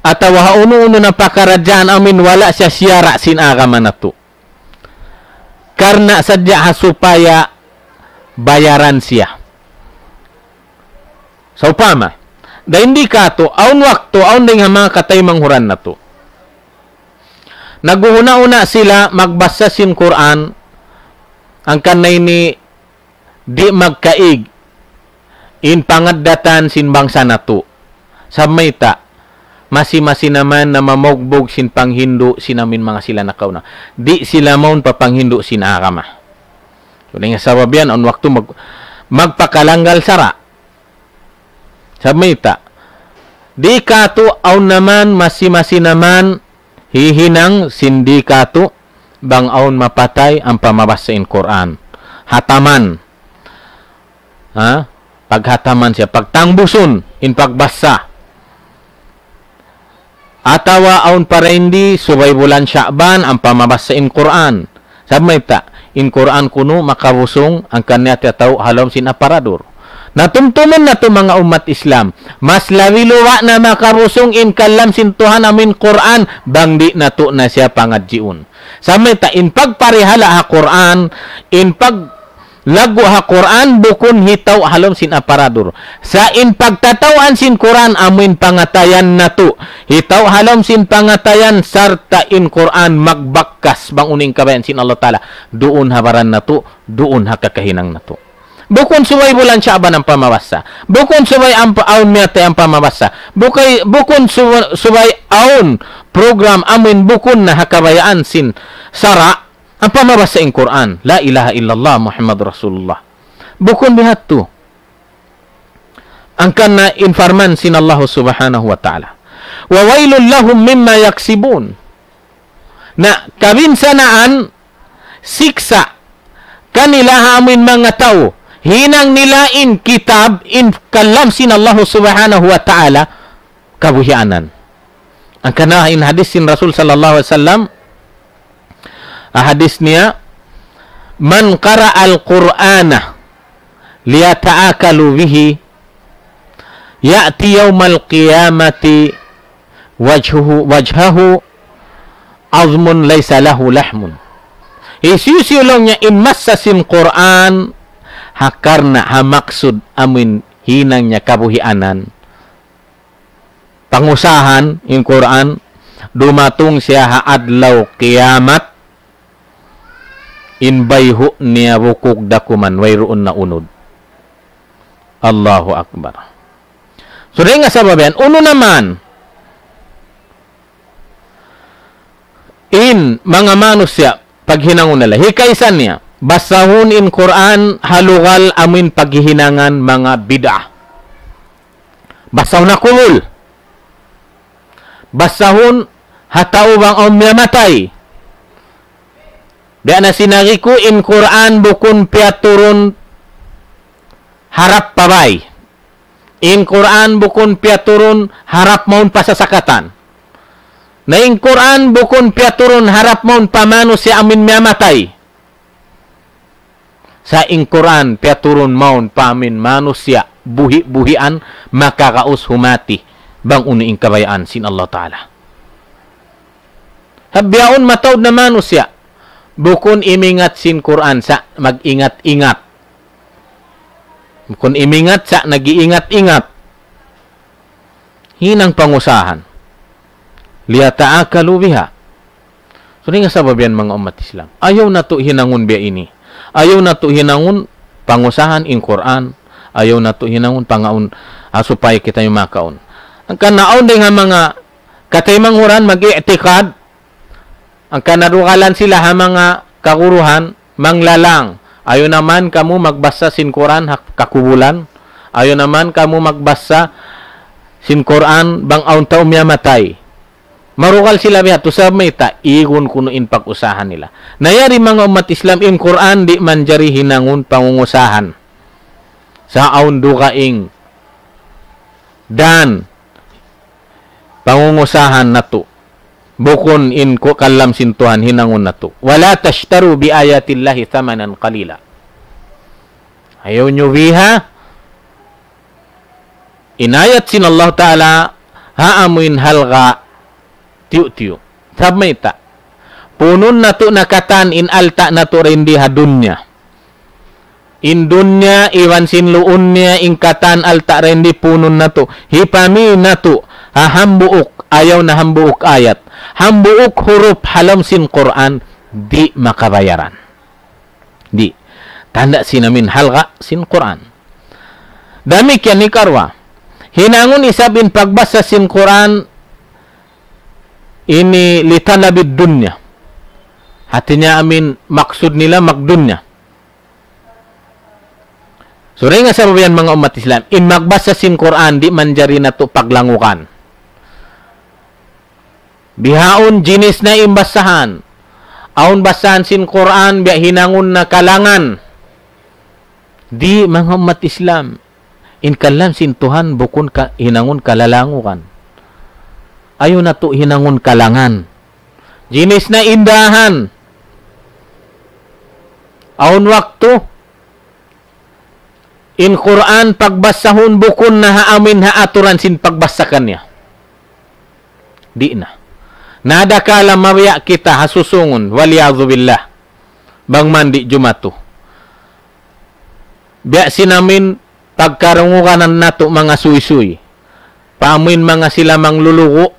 atawa ha unu-unu na pakaradjaan amu in wala' siya siyara' sin agama natu'. Karna' sadja ha supaya bayaran siya. Sawpama, dayn di katu', awn waktu, awn dayn ha manga kataymanghuran natu'. Naghuhuna'-huna' sila magbasa sin Qur'an, hangkan na ini di' magkaig in pangaddatan sin bangsa natu'. Sabab mayta', masi-masi na man na mamugbug sin panghindu' sin amin manga sila nakauna. Di' sila mawn pa panghindu' sin agama. So, dayn ha sabab yan, awn waktu mag-, magpakalanggal sara'. Sabab mayta', di katu' awn na man, masi-masi na man, hihinang sin di katu', bang awn mapatay ampa mabasa in Qur'an. Hataman. Ha? Paghataman siya, pagtangbusun in pagbasa. Atawa awn pa dayn di, subay bulan Sha'ban, ampa mabasa in Qur'an. Sabab mayta', in Qur'an kunu' makabusung, hangkan niya tiyatau' ha lawm sin aparadur. Na tumtumun natu' manga ummat Islam, mas labi luwa' na makabusung in kalam sin Tuhan amu in Qur'an, bang di' natu' na siya pangadjiun. Sabab mayta', in pagparihala' ha Qur'an, in pag laggu' ha Qur'an bukun hitau' ha lawm sin aparadur. Sa' in pagtatauan sin Qur'an amu in pangatayan natu'. Hitau' ha lawm sin pangatayan sarta' in Qur'an magbakkas bang unu in kabayaan sin Allah Ta'ala. Duun ha baran natu', duun ha kakahinang natu'. Bukun subay bulan Sha'ban ampa mabasa. Bukun subay ampa awn miyatay ampa mabasa. Bukay, bukun su-, subay awn program amu in bukun na ha kabayaan sin sara'. Ampa mabasa in Qur'an, La ilaha illallah Muhammad Rasulullah. Bukun biya' hādtu. Hangkan na in parman sin Allah Subhanahu wa Ta'ala. وَوَيْلٌ لَهُمْ مِمَّا يَكْسِبُونَ. Na kabinsanaan, siksa', kanila ha amu in manga tau, hinang nila in kitab, in kalam sin Allah Subhanahu wa Ta'ala, kabuhianan. Hangkan na in hadis sin Rasul sallallahu alayhi wasallam, ah, hadis niya, من قرأ القرآن ليتآكلوا به يأت يوم القيامة وجهه، وجهه عظم ليس له لحم. Hisiyu-siyu laung niya in massa sin Qur'an, ha karna' ha maksud amu in hinang niya kabuhianan. Pangusahan in Qur'an, dumatung siya ha adlaw kiyamat, in bayhu' niya bukug da kuman, wayruun na unud. Allahu Akbar. So, dayn ha sabab yan, unu na man, in manga manusiya', paghinangun nila. Hikaisa niya, basahun in Qur'an ha lugal amu in paghihinangan manga bid'ah. Basahun ha kubul. Basahun ha tau bang awn miyatay. Biya' na sin agi ku, in Qur'an bukun piyaturun harap pa bāy. In Qur'an bukun piyaturun harap mawn pa sasakatan. Na in Qur'an bukun piyaturun harap mawn pa manusiya' amu in miyatay. Sa' in Qur'an piyaturun mawn pa amu in manusiya' buhi'-buhian makaraus humati bang unu in kabayaan sin Allah Ta'ala. Hangkan bihaun mataud na manusiya', bukun imingat sin Qur'an sa' mag-ingat-ingat. Bukun imingat sa' nag-iingat-ingat. Hinang pangusahan. ليتآكلوا بها. So, dayn ha sabab yan manga ummat Islam. Ayaw natu' hinangun biya' ini. Ayaw natu' hinangun pangusahan in Qur'an. Ayaw natu' hinangun pangaun, ah, supaya kita makaun. Hangkan na awn dayn ha manga kataymanghuran mag-i'tikad, hangkan na dugalan sila ha manga kaguruhan, manglalang. Ayaw na man kamu magbasa sin Qur'an ha kakubulan. Ayaw na man kamu magbasa sin Qur'an bang awn tau miyatay. Marugal sila biya' hādtu sabab mayta', igun kunu' in pag-usahan nila. Na yari manga ummat Islam, in Qur'an di' manjari hinangun pangungusahan. Sa' awn dugaing dan pangungusahan natu'. Bukun in ku-, kalam sin Tuhan hinangun natu'. ولا تشتروا بآيات الله ثمنا قليلا. Ayaw niyu biha in ayat sin Allah Ta'ala ha amuin halga' tiyu'-tiyu'. Sabab mayta', punun natu' na katan in alta' natu' dayn di ha dunya. In dunya iban sin luun niya in katan alta' dayn di punun natu'. Hipami natu' ha hambuuk, ayaw na hambuuk ayat. Hambuuk hurup ha lawm sin Qur'an di' makabayaran. Di'. Tanda' sin amin halga' sin Qur'an. Damikkiyan hikaruwa. Hinangun isab in pagbasa sin Qur'an ini لطلب الدنيا. Hāti niya amin maksud nila magdunya. So, dayn ha sabab yan manga ummat Islam, in magbasa sin Qur'an di' manjari natu' paglangugan. Bihaun jinis na in basahan. Awn basahan sin Qur'an, biya' hinangun na kalangan. Di' manga ummat Islam. In kalam sin Tuhan bukun ka-, hinangun kalalangugan. Ayaw natu' hinangun kalangan. Jinis na in dahan. Awn waktu, in Qur'an pagbasahun bukun na ha amin ha aturan sin pagbasa kaniya. Di' na. Na adakala mabaya' kita ha susungun, والعياذ بالله. Bang man di' jumatu. Biya' sin amin pagkarungugan natu' manga suysuy. Pa amuin manga sila manglulugu',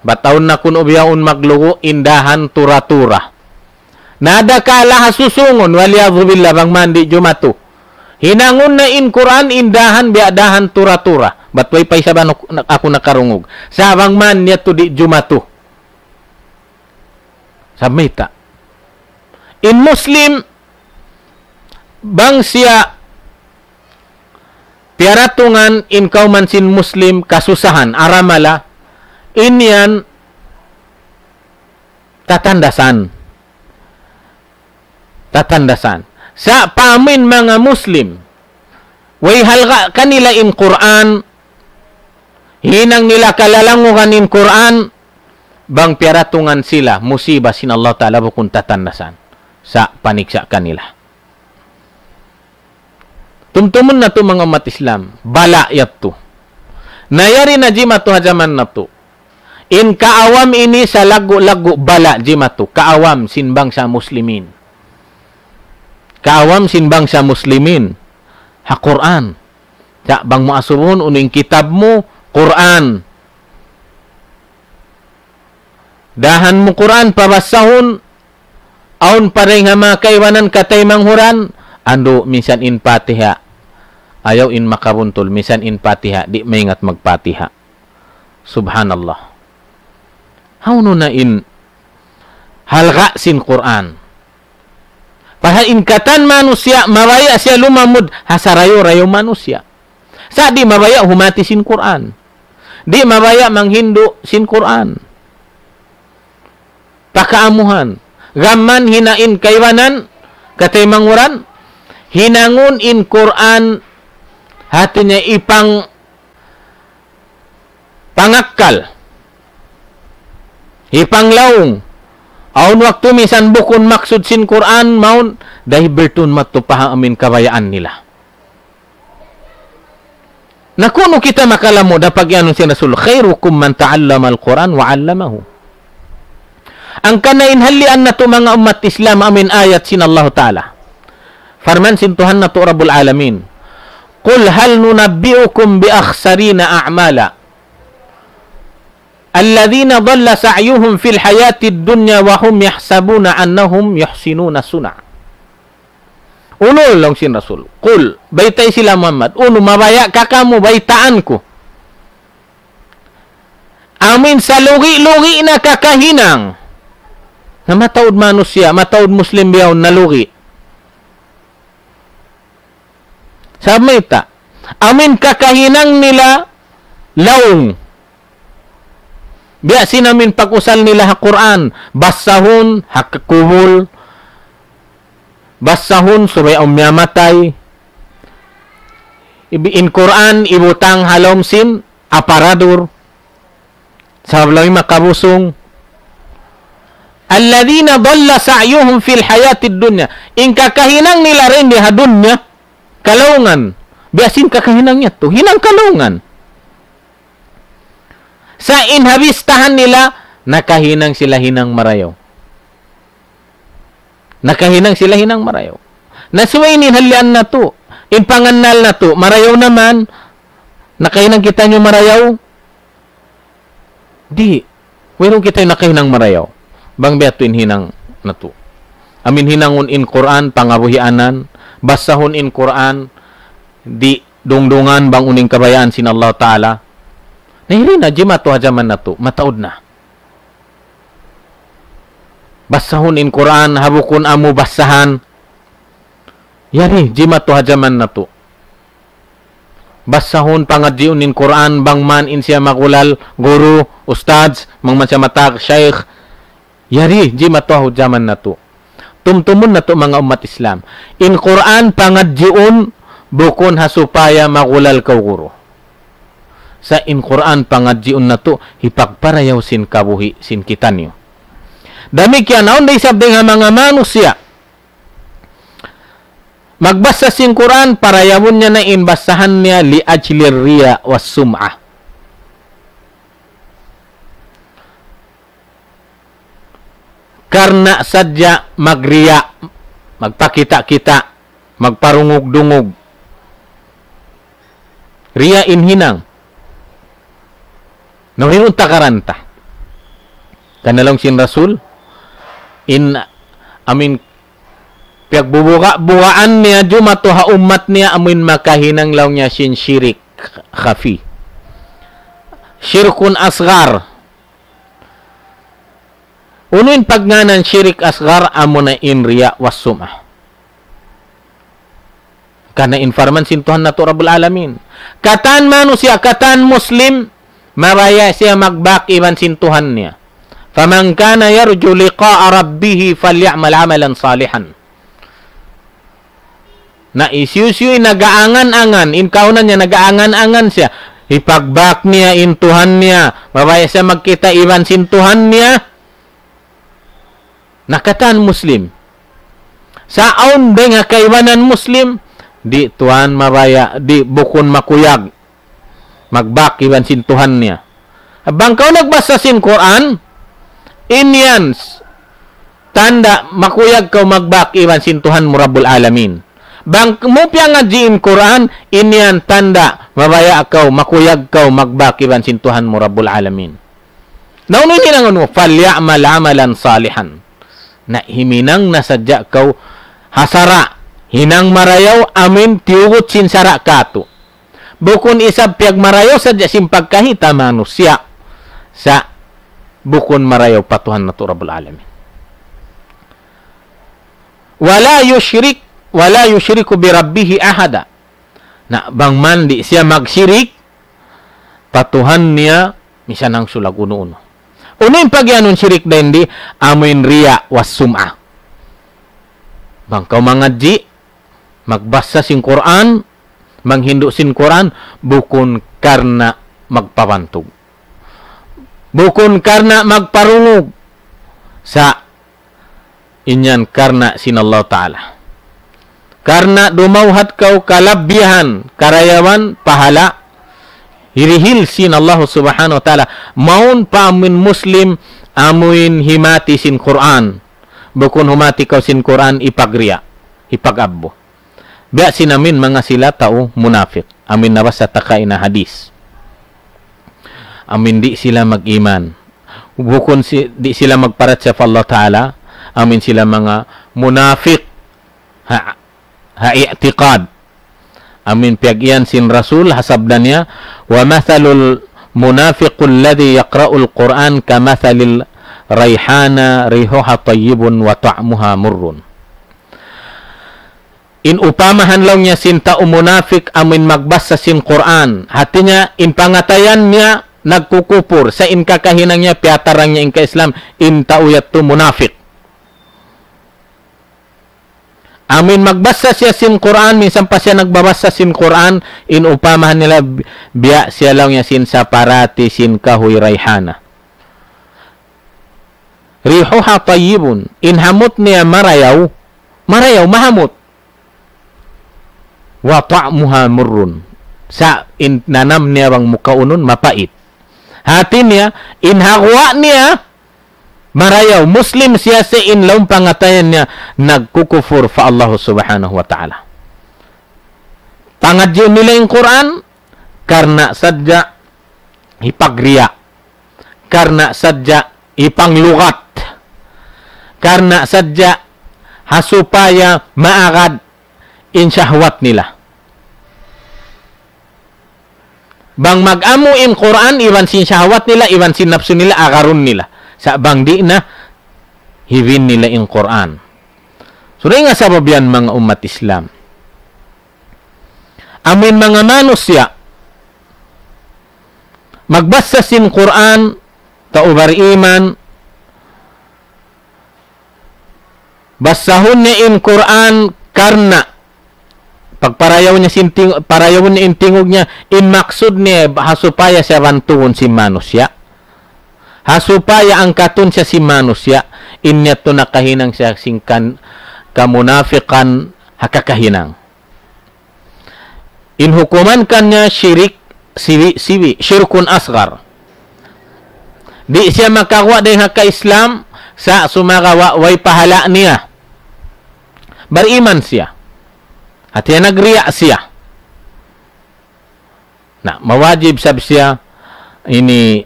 bat awn na kunu' bihaun maglugu', in dahan tura-tura. Na adakala ha susungun, والعياذ بالله, bang man di' jumatu. Hinangun na in Qur'an, in dahan biya' dahan tura-tura. Bat way pa isab aku, aku nakarungug. Sa' bang man yadtu di' jumatu. Sabab mayta'. In Muslim, bang siya piyaratungan in kawman sin Muslim kasusahan, aramala, in yan tatandasan. Tatandasan. Sa' pa amuin manga Muslim, way halga' kanila in Qur'an, hinang nila kalalangugan in Qur'an, bang piyaratungan sila musiba sin Allah Ta'ala bukun tatandasan. Sa' paniksa' kanila. Tumtumun natu' manga ummat Islam, bala' yadtu. Na yari na jimatu ha jaman natu'. In kaawam ini salaggu'-laggu' bala' jimatu, kaawam sin bangsa Muslimin. Kaawam sin bangsa Muslimin ha Qur'an. Sa' bang mu asubuhun, unu in kitab mu, Qur'an. Dahan mu Qur'an, pabasahun, awn pa dayn ha manga kaibanan kataymanghud, andu' minsan in Fatiha. Ayaw in makabuntul, minsan in Fatiha, di' maingat mag-Fatiha. Subhanallah. Hawnu na in halga' sin Qur'an. Pasal in katan manusiya', mabaya' siya lumamud ha sarayaw-rayaw manusiya'. Sa' di' mabaya' humati sin Qur'an. Di' mabaya' manghindu' sin Qur'an. Pakaamuhan. Gam man hina in kaibanan, kataymanghud, hinangun in Qur'an hati niya ipang pangakkal. Hipanglaung. Awn waktu minsan bukun maksud sin Qur'an, mawn, dahi bertun matu pa ha amin kabayaan nila. Na kunu' kita makalamud ha pag-iyanun sin Rasul, خيركم من تعلم القرآن وعلمه. Hangkan na in halian natu' manga ummat Islam amin ayat sin Allah Ta'ala. Parman sin Tuhan natu' Rabbul Alamin. قل هل ننبئكم بالأخسرين أعمالا الذين ضل سعيهم في الحياة الدنيا وهم يحسبون أنهم يحسنون صنعا. Unu laung sin Rasul. Qul, baytai sila Muhammad. Unu, mabaya' ka kamu, baytaan ku. Amin salugi-lugi na kakahinang. Na mataud manusiya', mataud Muslim bihaun nalugi. Sabab mayta'. Amin kakahinang nila laung. Biya' sin amin pag-usal nila ha Qur'an, basahun ha kubul, basahun subay awn miyatay. Ibi-, in Qur'an ibutang ha lawm sin aparador. Sabab laung makabusung. الذين ضل سعيهم في الحياة الدنيا. In kakahinang nila dayn di ha dunya, kalaungan. Biya' sin kakahinang niya tu, hinang kalaungan. Sa' in ha bistahan nila, nakahinang sila hinang marayaw. Nakahinang sila hinang marayaw. Na subay ini in halian natu', in pangannal natu', marayaw na man, nakahinang kitaniyu marayaw? Di'. Wayruun kitaniyu nakahinang marayaw. Bang biya' tu in hinang natu'. Amin hinangun in Qur'an, pangabuhianan, basahun in Qur'an, di' dungdungan bang unu in kabayaan sin Allah Ta'ala. Na, hiri na, jimatu ha jaman natu', mataud na. Basahun in Qur'an, ha bukun amu basahan. Yari, jimatu ha jaman natu'. Basahun, pangadjiun in Qur'an, bang man in siya magulal guru, ustadz, bang man siya matag shaykh. Yari, jimatu ha jaman natu'. Tumtumun natu' manga ummat Islam. In Qur'an pangadjiun bukun ha supaya magulal kaw guru. Sa' in Qur'an pangadjiun natu', hipagparayaw sin kabuhi' sin kitaniyu. Damikkiyan awn da isab dayn ha manga manusiya'. Magbasa sin Qur'an, parayawun niya na in basahan niya لأجل الرياء والسمعة. Karna' sadja magriya', magpakita'-kita', magparungug-dungug. Riya' in hinang. Na, wayruun takaran ta. Karna' laung sin Rasul, in amin piyagbubuga-bugaan niya jumatu ha ummat niya amin makahinang laung niya sin shirik khafi. Shirkun asghar. Unu in pagngānan shirik asghar? Amuna in riya' was sum'ah. Karna' in parman sin Tuhan natu' Rabbul Alamin. Katan manusiya', katan Muslim, mabaya' siya magbak iban sin Tuhan niya. فمن كان يرجو لقاء ربه فليعمل عملا صالحا. Na hisiyu-siyu in nag-aangan-angan, in kaawnan niya nag-aangan-angan siya, hipagbak niya in Tuhan niya, mabaya' siya magkita' iban sin Tuhan niya, na katan Muslim. Sa' awn dayn ha kaibanan Muslim, di' tuwan mabaya', di' bukun makuyag magbak iban sin Tuhan niya. Bang kaw nagbasa sin Qur'an, in yan s-, tanda' makuyag kaw magbak iban sin Tuhan mu Rabbul Alamin. Bang mu piyangadji' in Qur'an, in yan tanda' mabaya' kaw, makuyag kaw magbak iban sin Tuhan mu Rabbul Alamin. Na unu in hinangun mu? فليعمل عملا صالحا. Na himinang na sadja kaw ha sara', hinang marayaw amin tiyugut sin sara' katu'. Bukun isab piyagmarayaw sadja sin pagkahi ta manusiya'. Sa' bukun marayaw pa Tuhan natu' Rabbul Alamin. ولا يشرك، ولا يشرك بربه أحدا. Na bang man di' siya magsirik pa Tuhan niya, misan hangsulag unu-unu. Unu in pagiyanun sirik dayn di? Amuin riya' was sum'ah. Bang kaw mangadji', magbasa sin Qur'an, manghindu' sin Qur'an, bukun karna' magpabantug. Bukun karna' magparungug. Sa' in yan karna' sin Allah Ta'ala. Karna' dumawhat kaw kalabbihan, karayawan, pahala', hirihil sin Allah Subhanahu wa Ta'ala. Mawn pa amuin Muslim, amuin himati sin Qur'an. Bukun humati kaw sin Qur'an, hipagriya', hipag-abbu. Biya' sin amuin manga sila tau munafik. Amuin nabasa ta kaina hadis. Amuin di' sila mag-iman. Bukun si-, di' sila magparachaya pa Allah Ta'ala. Amuin sila manga munafik. Ha, ha i'tiqad. Amuin piyag-iyan sin Rasul, ha sabda niya, ومثل المنافق الذي يقرأ القرآن كمثل الريحانة ريحها طيب وطعمها مر. In upamahan laung niya sin tau munafik amuin magbasa sin Qur'an. Hati niya, in pangatayan niya, nagkukupur, sa' in kakahinang niya, piyatarang niya in ka-Islam, in tau yadtu munafik. Amuin magbasa siya sin Qur'an, minsan pa siya nagbabasa sin Qur'an, in upamahan nila, bi-, biya' siya laung niya sin saparati sin kahuy rayhana. ريحها طيب, in hamut niya marayaw, marayaw, mahamut. وطعمها مر, sa' in nanam niya bang mu kaunun, mapait. Hati niya, in ha guwa' niya, marayaw, Muslim siya, sa' in lawm pangatayan niya, nagkukupur pa Allah Subhanahu wa Ta'ala. Pangadjiun nila in Qur'an, karna' sadja hipagriya', karna' sadja hipanglugat, karna' sadja ha supaya maagad in shahwat nila. Bang mag-amu in Qur'an, iban sin shahwat nila, iban sin napsu nila, agarun nila. Sa' bang di' na, hibin nila in Qur'an. So, dayn ha sabab yan, manga ummat Islam. Amuin manga manusiya', magbasa sin Qur'an, tau bariman, basahun niya in Qur'an karna' pagparayaw niya sin ting-, parayawun niya in tingug niya, in maksud niya ha supaya siya bantugun sin manusiya'. Ha supaya angkatun siya sin manusiya', in niya tu nakahinang siya sin kan-, kamunafikan ha kakahinang. In hukuman kaniya shirik siwi'-siwi', shirkun asgar. Di' siya makaguwa' dayn ha ka-Islam, sa' sumagawa' way pahala' niya. Bariman siya. Hati niya nagriya' siya. Na, mawajib sab siya ini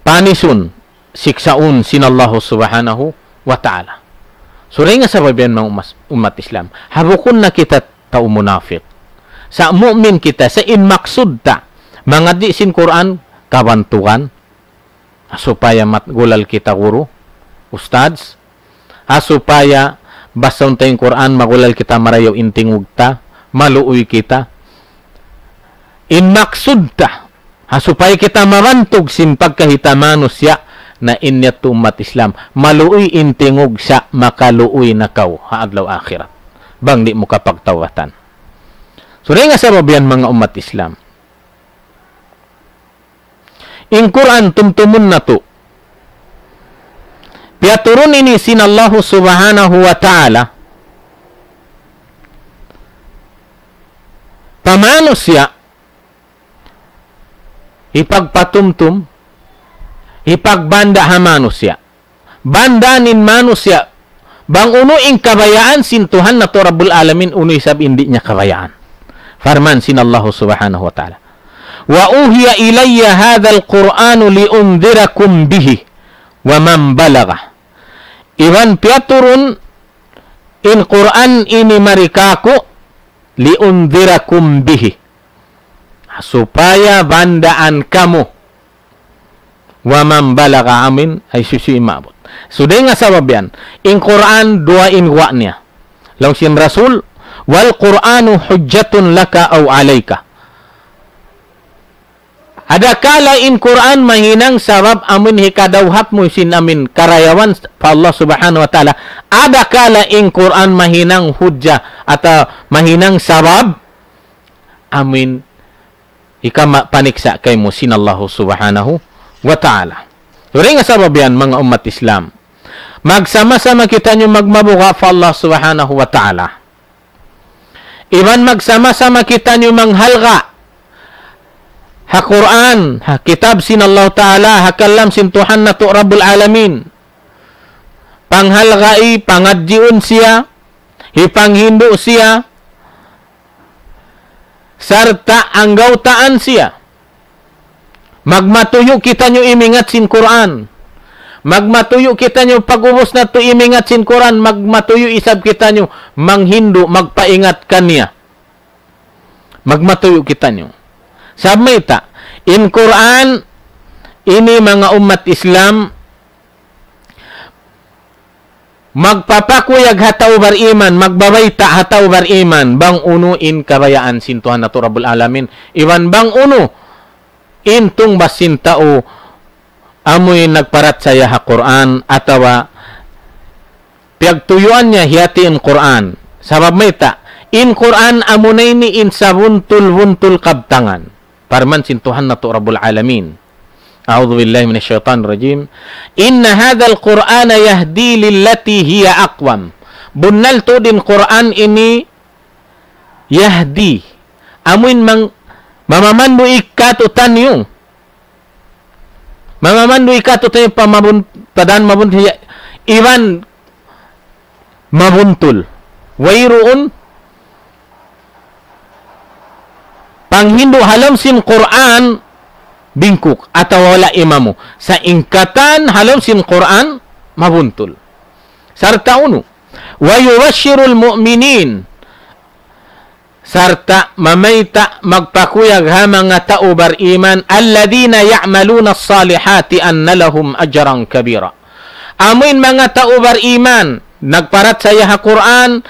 panisun, siksaun sin Allahu Subhanahu wa Ta'ala. So, dayn ha sabab yan, manga ummas-, ummat Islam. Ha bukun na kita tau munafik. Sa' mu'min kita, sa' in maksud ta, mangadji' sin Qur'an, kabantugan, supaya mat-, gulal kita guru, ustadz, ha supaya basahun ta in Qur'an, magulal kita marayaw in tingug ta, maluuy kita. In maksud ta, ha supaya kita mabantug sin pagkahi ta manusiya', na in niya tu ummat Islam, maluuy in tingug sa' makaluuy na kaw ha adlaw akhirat. Bang di' mu kapagtawbatan. So, dayn ha sabab yan, manga ummat Islam. In Qur'an tumtumun natu'. Piyaturun ini sin Allahu Subhanahu wa Ta'ala pa manusiya', hipagpatumtum, hipagbanda' ha manusiya'. Banda' in manusiya', bang unu in kabayaan sin Tuhan natu' Rabbul Alamin, unu isab in di' niya kabayaan. Parman sin Allahu Subhanahu wa Ta'ala, وأوحي إلي هذا القرآن لأنذركم به ومن بلغ. Iban piyaturun in Qur'an ini mari kāku', لأنذركم به. Supaya bandaan kamu. ومن بلغ, amuin hisiyu-siyu in maabut. So, dayn ha sabab yan, in Qur'an duwa in guwa' niya. Laung sin Rasul, والقرآن حجة لك أو عليك. Adakala in Qur'an mahinang sabab amuin hikadawhat mu sin amuin karayawan pa Allah Subhanahu wa Ta'ala. Adakala in Qur'an mahinang hujja atawa mahinang sabab amuin hikama-, paniksa' kaymu sin Allahu Subhanahu wa Ta'ala. Dayn ha sabab yan, manga ummat Islam, magsama-sama kitaniyu magmabuga' pa Allah Subhanahu wa Ta'ala. Iban magsama-sama kitaniyu manghalga' ha Qur'an, ha kitab sin Allah Ta'ala, ha kalam sin Tuhan natu' Rabbul Alamin. Panghalgai, pangadjiun siya, hipanghindu' siya, sarta' anggawtaan siya. Magmatuyu' kitaniyu imingat sin Qur'an. Magmatuyu' kitaniyu pag-ubus natu' imingat sin Qur'an, magmatuyu' isab kitaniyu manghindu', magpaingat kaniya. Magmatuyu' kitaniyu. Sabab mayta', in Qur'an ini, manga ummat Islam, magpapakuyag ha tau bariman, magbabayta' ha tau bariman, bang unu in kabayaan sin Tuhan natu' Rabbul Alamin, iban bang unu in tungbas sin tau amuin nagparachaya ha Qur'an atawa piyagtuyuan niya hiyati in Qur'an. Sabab mayta', in Qur'an amuna ini in sabuntul-buntul kabtangan. Parman sin Tuhan natu' Rabbul Alamin. أعوذ بالله من الشيطان الرجيم. إن هذا القرآن يهدي للتي هي أقوم. Bunnal tuud in Qur'an ini yahdi. Amuin mang-, mamamandu' katu'taniyu. Mamamandu' katu'taniyu pa mabun-, pa dan mabuntul, iban mabuntul. Wayruun panghindu' ha lawm sin Qur'an bingkuk atawa wala' imamu. Sa' in katan ha lawm sin Qur'an mabuntul. Sarta' unu, ويبشر المؤمنين, sarta' mamayta' magpakuyag ha manga tau bariman, الذين يعملون الصالحات أن لهم أجرا كبيرا. Amuin manga tau bariman, nagparachaya ha Qur'an,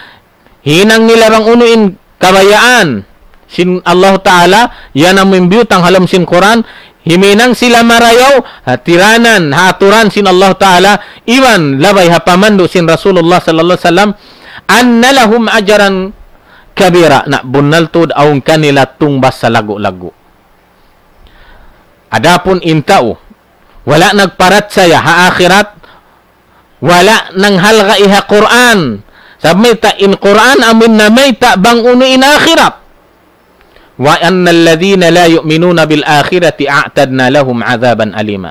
hinang nila bang unu in kabayaan sin Allahu Ta'ala, yan amuin biyutang ha lawm sin Qur'an, himinang sila marayaw, ha tiranan, ha aturan sin Allahu Ta'ala, iban labay ha pamandu' sin Rasulullah sallallahu alayhi wasallam, أن لهم أجرا كبيرا. Na bunnal tuud awn kanila tungbas salaggu'-laggu'. Adapun in tau wala' nagparachaya ha akhirat, wala' nanghalga' ha Qur'an. Sabab mayta', in Qur'an amuin namayta' bang unu in akhirat. وأن الذين لا يؤمنون بالآخرة أعتدنا لهم عذابا أليما.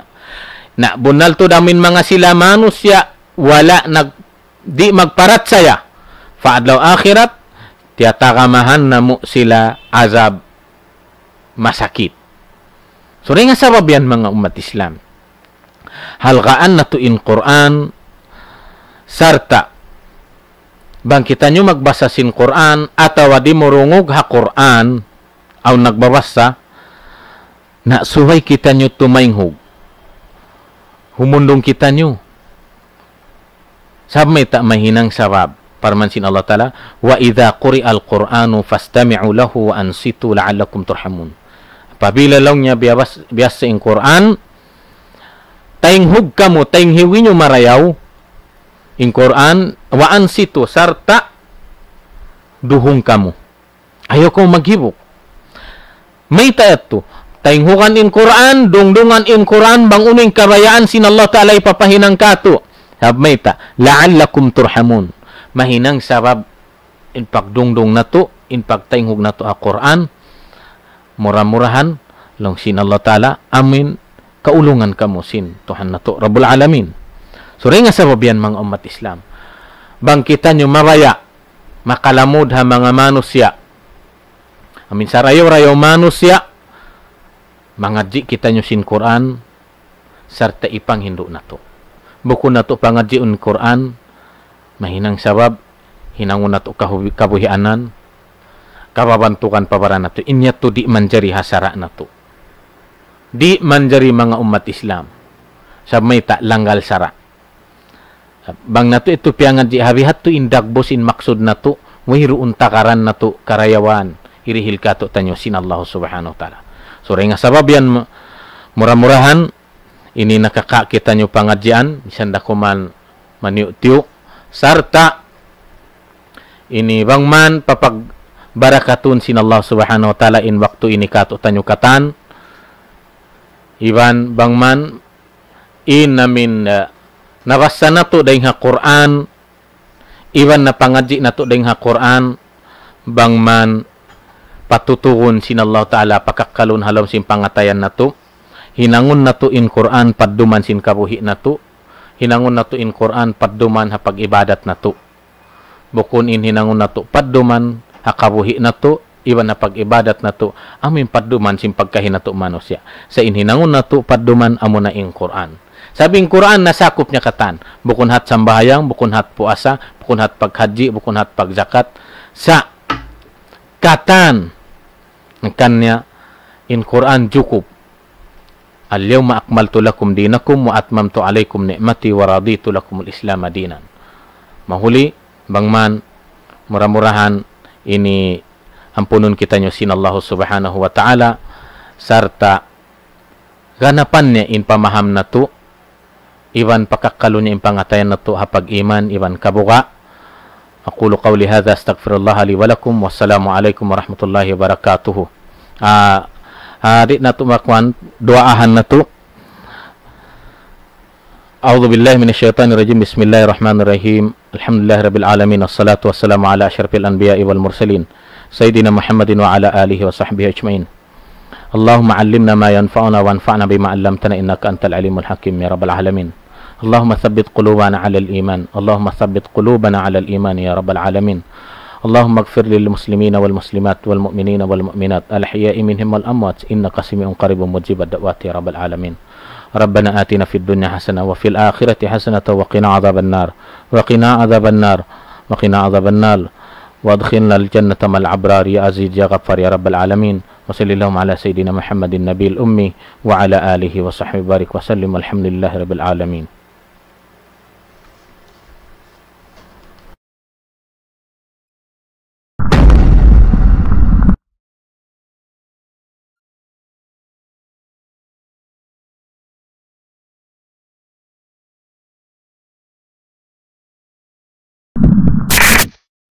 Na bunnal tuud amuin manga sila manusiya' wala' nag-, di' magparachaya pa adlaw akhirat, tiyatagamahan namu' sila azab masakit. So, dayn ha sabab yan, manga ummat Islam, halgaan natu' in Qur'an, sarta' bang kitaniyu magbasa sin Qur'an atawa dimurungug ha Qur'an, awn nagbabasa, na subay kitaniyu tumaynghug. Humundung kitaniyu. Sabab mayta', mahinang sabab. Parman sin Allah Ta'ala, وإذا قرئ القرآن فاستمعوا له وأنصتوا لعلكم ترحمون. Apabila laung niya biyabas-, biyasa in Qur'an, taynghug kamu, taynghug niyu marayaw in Qur'an, وأنصتوا, sarta' duhung kamu. Ayaw kamu maghibuk. Mayta' yadtu? Taynghugan in Qur'an, dungdungan in Qur'an, bang unu in kabayaan sin Allah Ta'ala hipapahinang katu'. Sabab mayta', لعلكم ترحمون. Mahinang sabab in pagdungdung natu', in pagtaynghug natu' ha Qur'an, mura-murahan, laung sin Allah Ta'ala, amuin kaulungan kamu sin Tuhan natu' Rabbul Alamin. So, dayn ha sabab yan, manga ummat Islam, bang kitaniyu mabaya' makalamud ha manga manusiya', amuin sarayaw-rayaw manusiya', mangadji' kitaniyu sin Qur'an, sarta' ipanghindu' natu'. Bukun natu' pangadjiun Qur'an, mahinang sabab, hinangun natu' kahubi-, kabuhianan, kababantugan pa baran natu'. In yadtu di' manjari ha sara' natu'. Di' manjari, manga ummat Islam. Sabab mayta', langgal sara'. Bang natu' yadtu piyangadji', ha bihadtu in dagbus, in maksud natu', wayruun takaran natu' karayawan, hirihil katu'taniyu sin Allah Subhanahu wa Ta'ala. So, dayn ha sabab yan, mu-, mura-murahan, ini nakaka' kitaniyu pangadjian, misan da kuman maniyu'-tiyu', sarta' ini bang man papagbarakatun sin Allah Subhanahu wa Ta'ala in waktu ini katu'taniyu katan, iban bang man in amuin, eh, nabasa natu' dayn ha Qur'an, iban napangadji' natu' dayn ha Qur'an, bang man patutugun sin Allah Ta'ala pakakkalun ha lawm sin pangatayan natu', hinangun natu' in Qur'an padduman sin kabuhi' natu', hinangun natu' in Qur'an padduman ha pag-ibadat natu'. Bukun in hinangun natu' padduman ha kabuhi' natu', iban ha pag-ibadat natu', amuin padduman sin pagkahi natu' manusiya'. Sa' in hinangun natu' padduman amuna in Qur'an. Sabab in Qur'an nasakup niya katan. Bukun hat sambahayang, bukun hat puasa, bukun hat paghajji, bukun hat pagjakat. Sa' katan, hangkan niya in Qur'an jukup. اليوم أكملت لكم دينكم وأتممت عليكم نعمتي ورضيت لكم الإسلام دينا. Mahuli, bang man, mura-murahan, ini ampunun kitaniyu sin Allah Subhanahu wa Ta'ala, sarta' ganapan niya in pamaham natu', iban pakakkalu niya in pangatayan natu' ha pag-iman iban kabuga'. أقول قولي هذا، أستغفر الله لي ولكم، والسلام عليكم ورحمة الله وبركاته. Ah, ah, di' natu' makuan, duwaahan natu'. أعوذ بالله من الشيطان الرجيم. بسم الله الرحمن الرحيم. الحمد لله رب العالمين، والصلاة والسلام على أشرف الأنبياء والمرسلين، سيدنا محمد وعلى آله وصحبه أجمعين. اللهم علمنا ما ينفعنا وانفعنا بما علمتنا إنك أنت العليم الحكيم يا رب العالمين. اللهم ثبت قلوبنا على الإيمان. اللهم ثبت قلوبنا على الإيمان يا رب العالمين. اللهم اغفر للمسلمين والمسلمات والمؤمنين والمؤمنات الأحياء منهم والأموات إنك سميع قريب مجيب الدعوات يا رب العالمين. ربنا آتنا في الدنيا حسنة وفي الآخرة حسنة وقنا عذاب النار. وقنا عذاب النار. وقنا عذاب النار. وأدخلنا الجنة مع الأبرار يا عزيز يا غفار يا رب العالمين. وصل اللهم على سيدنا محمد النبي الأمي وعلى آله وصحبه وبارك وسلم، والحمد لله رب العالمين.